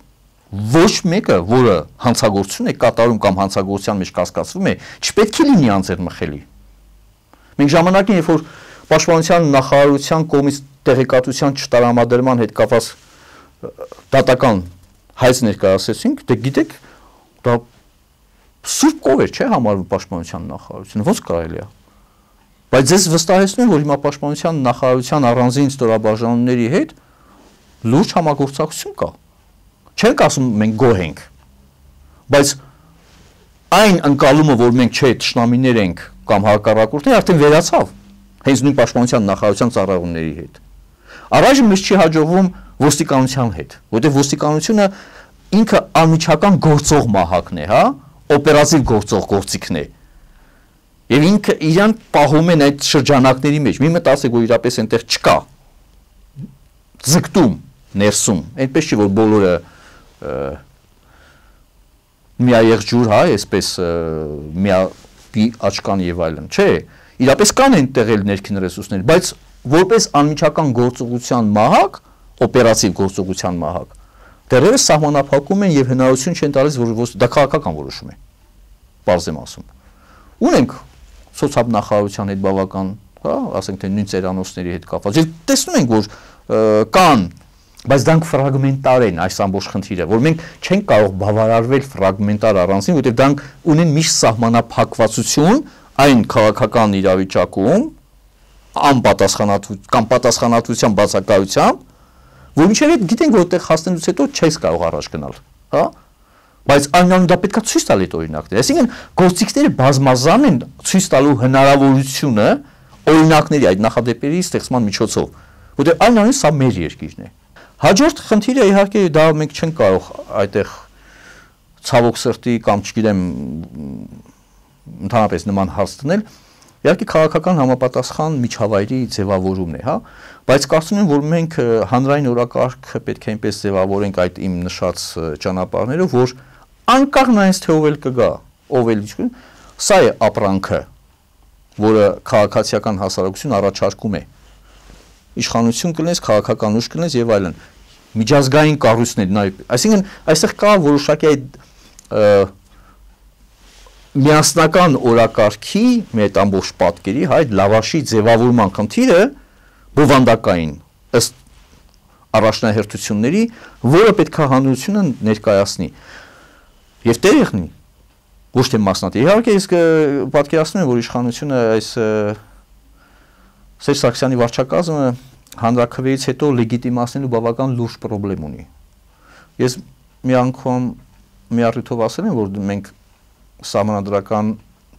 ոչ մեկը, որը հանցագործություն է կատարում կամ հանցագործության մեջ կասկածվում է, չպետք է լինի անձեռնմխելի։ Մենք ժամանակին, երբ որ պաշտպանության նախարարության կողմից տեղեկատվության չտարամադրման հետ կապված դատական հայց ներկայացրեցինք, դե գիտեք, դա սուրբ կով էր, չէ՞ համարվում պաշտպանության նախարարությունը, ո՞նց կարելի է։ Բայց ես վստահեցնում եմ, որ հիմա պաշտպանության նախարարության առանձին ստորաբաժանումների հետ լուրջ համագործակցություն կա։ Չենք ասում մենք գոհ ենք, բայց այն ընկալումը, որ մենք չէ թշնամիներ ենք կամ հակառակորդներ, արդեն վերացավ հենց նույն պաշտպանության նախարարության ծառայողների հետ։ Առայժմ մեզ չի հաջողվում ոստիկանության հետ, որտեղ ոստիկանությունը ինքը անմիջական գործող մահակն է, հա, օպերատիվ գործող գործիքն է։ Եվ ինքը իրան պահում են այդ շրջանակների մեջ։ Մի մտածեք, որ իրապես այնտեղ չկա ձգտում ներսում, այնպես չի, որ բոլորը միաեղջյուր, հա, այսպես միակի աչքան եւ այլն, չէ, իրապես կան այնտեղ էլ ներքին ռեսուրսներ, բայց որպես անմիջական գործողության մահակ, օպերատիվ գործողության մահակ, դեռևս սահմանափակում են եւ հնարավորություն չեն տալիս, որ դա քաղաքական որոշում է, բարձ եմ ասում։ Ունենք սոցիալ-նախարարության հետ բավական, հա, ասենք թե նույն ծերանոցների հետ կապված, եւ տեսնում ենք, որ կան, բայց դրանք ֆրագմենտար են այս ամբողջ խնդիրը, որ մենք չենք կարող բավարարվել ֆրագմենտար առանձին, որտեղ դրանք ունեն միշտ սահմանափակվածություն այն քաղաքական իրավիճակում, անպատասխանատվությամբ կամ պատասխանատվության բացակայությամբ, որ մինչև այդ գիտենք, որ այդտեղ հասնելուց հետո չես կարող առաջ գնալ, հա? Բայց այնուամենայնիվ դա պետք է ցույց տալ այդ օրինակները։ Այսինքն գործիքները բազմազան են ցույց տալու հնարավորությունը օրինակների այդ նախադեպերի ստեղծման միջոցով, որտեղ այնուամենայնիվ սա մեր երկիրն է։ Հաջորդ խնդիրը իհարկե դա մենք չենք կարող այդտեղ ցավոք սրտի կամ չգիտեմ ընդհանրապես նման հարց դնել, իհարկե քաղաքական համապատասխան միջավայրի ձևավորումն է, հա, բայց կարծում եմ, որ մենք հանրային օրակարգը պետք է այնպես ձևավորենք այդ իմ նշած ճանապարհներով, որ անկախ նայած թե ով էլ կգա, ով էլ ինչ, սա է ապրանքը, որը քաղաքացիական հասարակություն առաջարկում է։ Իշխանություն կլինես, քաղաքական ուժ կլինես եւ այլն։ Միջազգային կառույցներ, այսինքն այստեղ կա որոշակի այդ միասնական օրակարգի մեր այդ ամբողջ պատկերի, հա, այդ լավաշի ձևավորման խնդիրը բովանդակային ըստ առաջնահերթությունների, որը պետք է հանրությունը ներկայացնի եւ տեղ եղնի, ոչ թե մասնատի։ Իհարկե իսկ պատկերացնում եմ, որ իշխանությունը այս Սերժ Սարգսյանի վարչակազմը հանրաքվեից հետո լեգիտիմացնելու բավական լուրջ խնդրեմ ունի։ Ես մի անգամ մի առիթով ասել եմ, որ մենք սահմանադրական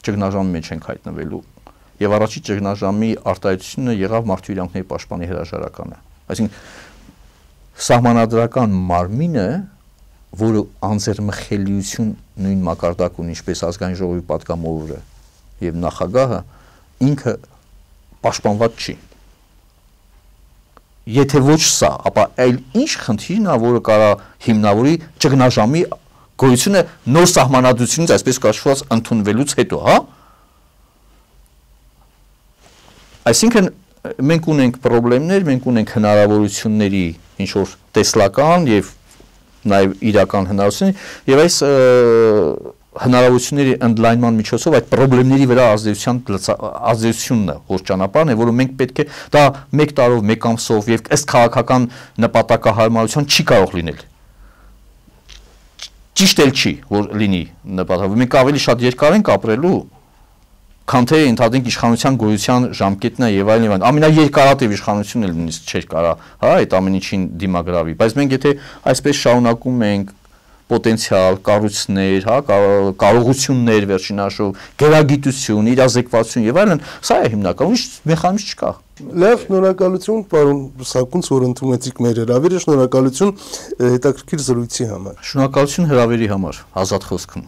ճգնաժամի մեջ ենք հայտնվելու եւ առաջի ճգնաժամի արտահայտությունը եղավ մարդու իրավունքների պաշտպանի հրաժարականը։ Այսինքն սահմանադրական մարմինը, որը անձեռմխելիություն նույն մակարդակ ունի, ինչպես ազգային ժողովի պատգամավորը եւ նախագահը, ինքը պաշտպանված չի։ Եթե ոչ սա, ապա այլ ինչ խնդիրն է, որը կարա հիմնավորի ճգնաժամի գոյությունը նոր սահմանադրությունից, այսպես կոչված, ընդունվելուց հետո, հա? Այսինքն մենք ունենք խնդիրներ, մենք ունենք հնարավորությունների ինչ որ տեսլական եւ նաեւ իրական հնարավորություններ, եւ այս հնարավորությունների ընդլայնման միջոցով այդ խնդիրների վրա ազդեցության ազդեցությունն է, որ ճանապարհն է, որը մենք պետք է դա մեկ տարով, մեկ ամսով եւ ըստ քաղաքական նպատակահարմարության չի կարող լինել։ Ճիշտ էլ չի, որ լինի նպատակ։ Մենք ավելի շատ երկար ենք ապրելու, քան թե ընդհանրենք իշխանության գոյության ժամկետն է եւ այլն եւ այլն։ Ամենաերկարատև իշխանությունն էլ նույնիսկ չէր կարա, հա, այդ ամեն ինչին դիմագրավի։ Բայց մենք եթե այսպես շարունակում ենք պոտենցիալ, կառույցներ, հա, կարողություններ վերջին հաշվով, գերագիտություն, իրազեկվածություն եւ այլն, սա է հիմնական, ուրիշ մեխանիզմ չկա։ Լավ, շնորհակալություն, պարոն Սակունց, որ ընդունեցիք մեր հրավերը, շնորհակալություն հետաքրքիր զրույցի համար։ Շնորհակալություն հրավերի համար, ազատ խոսքում։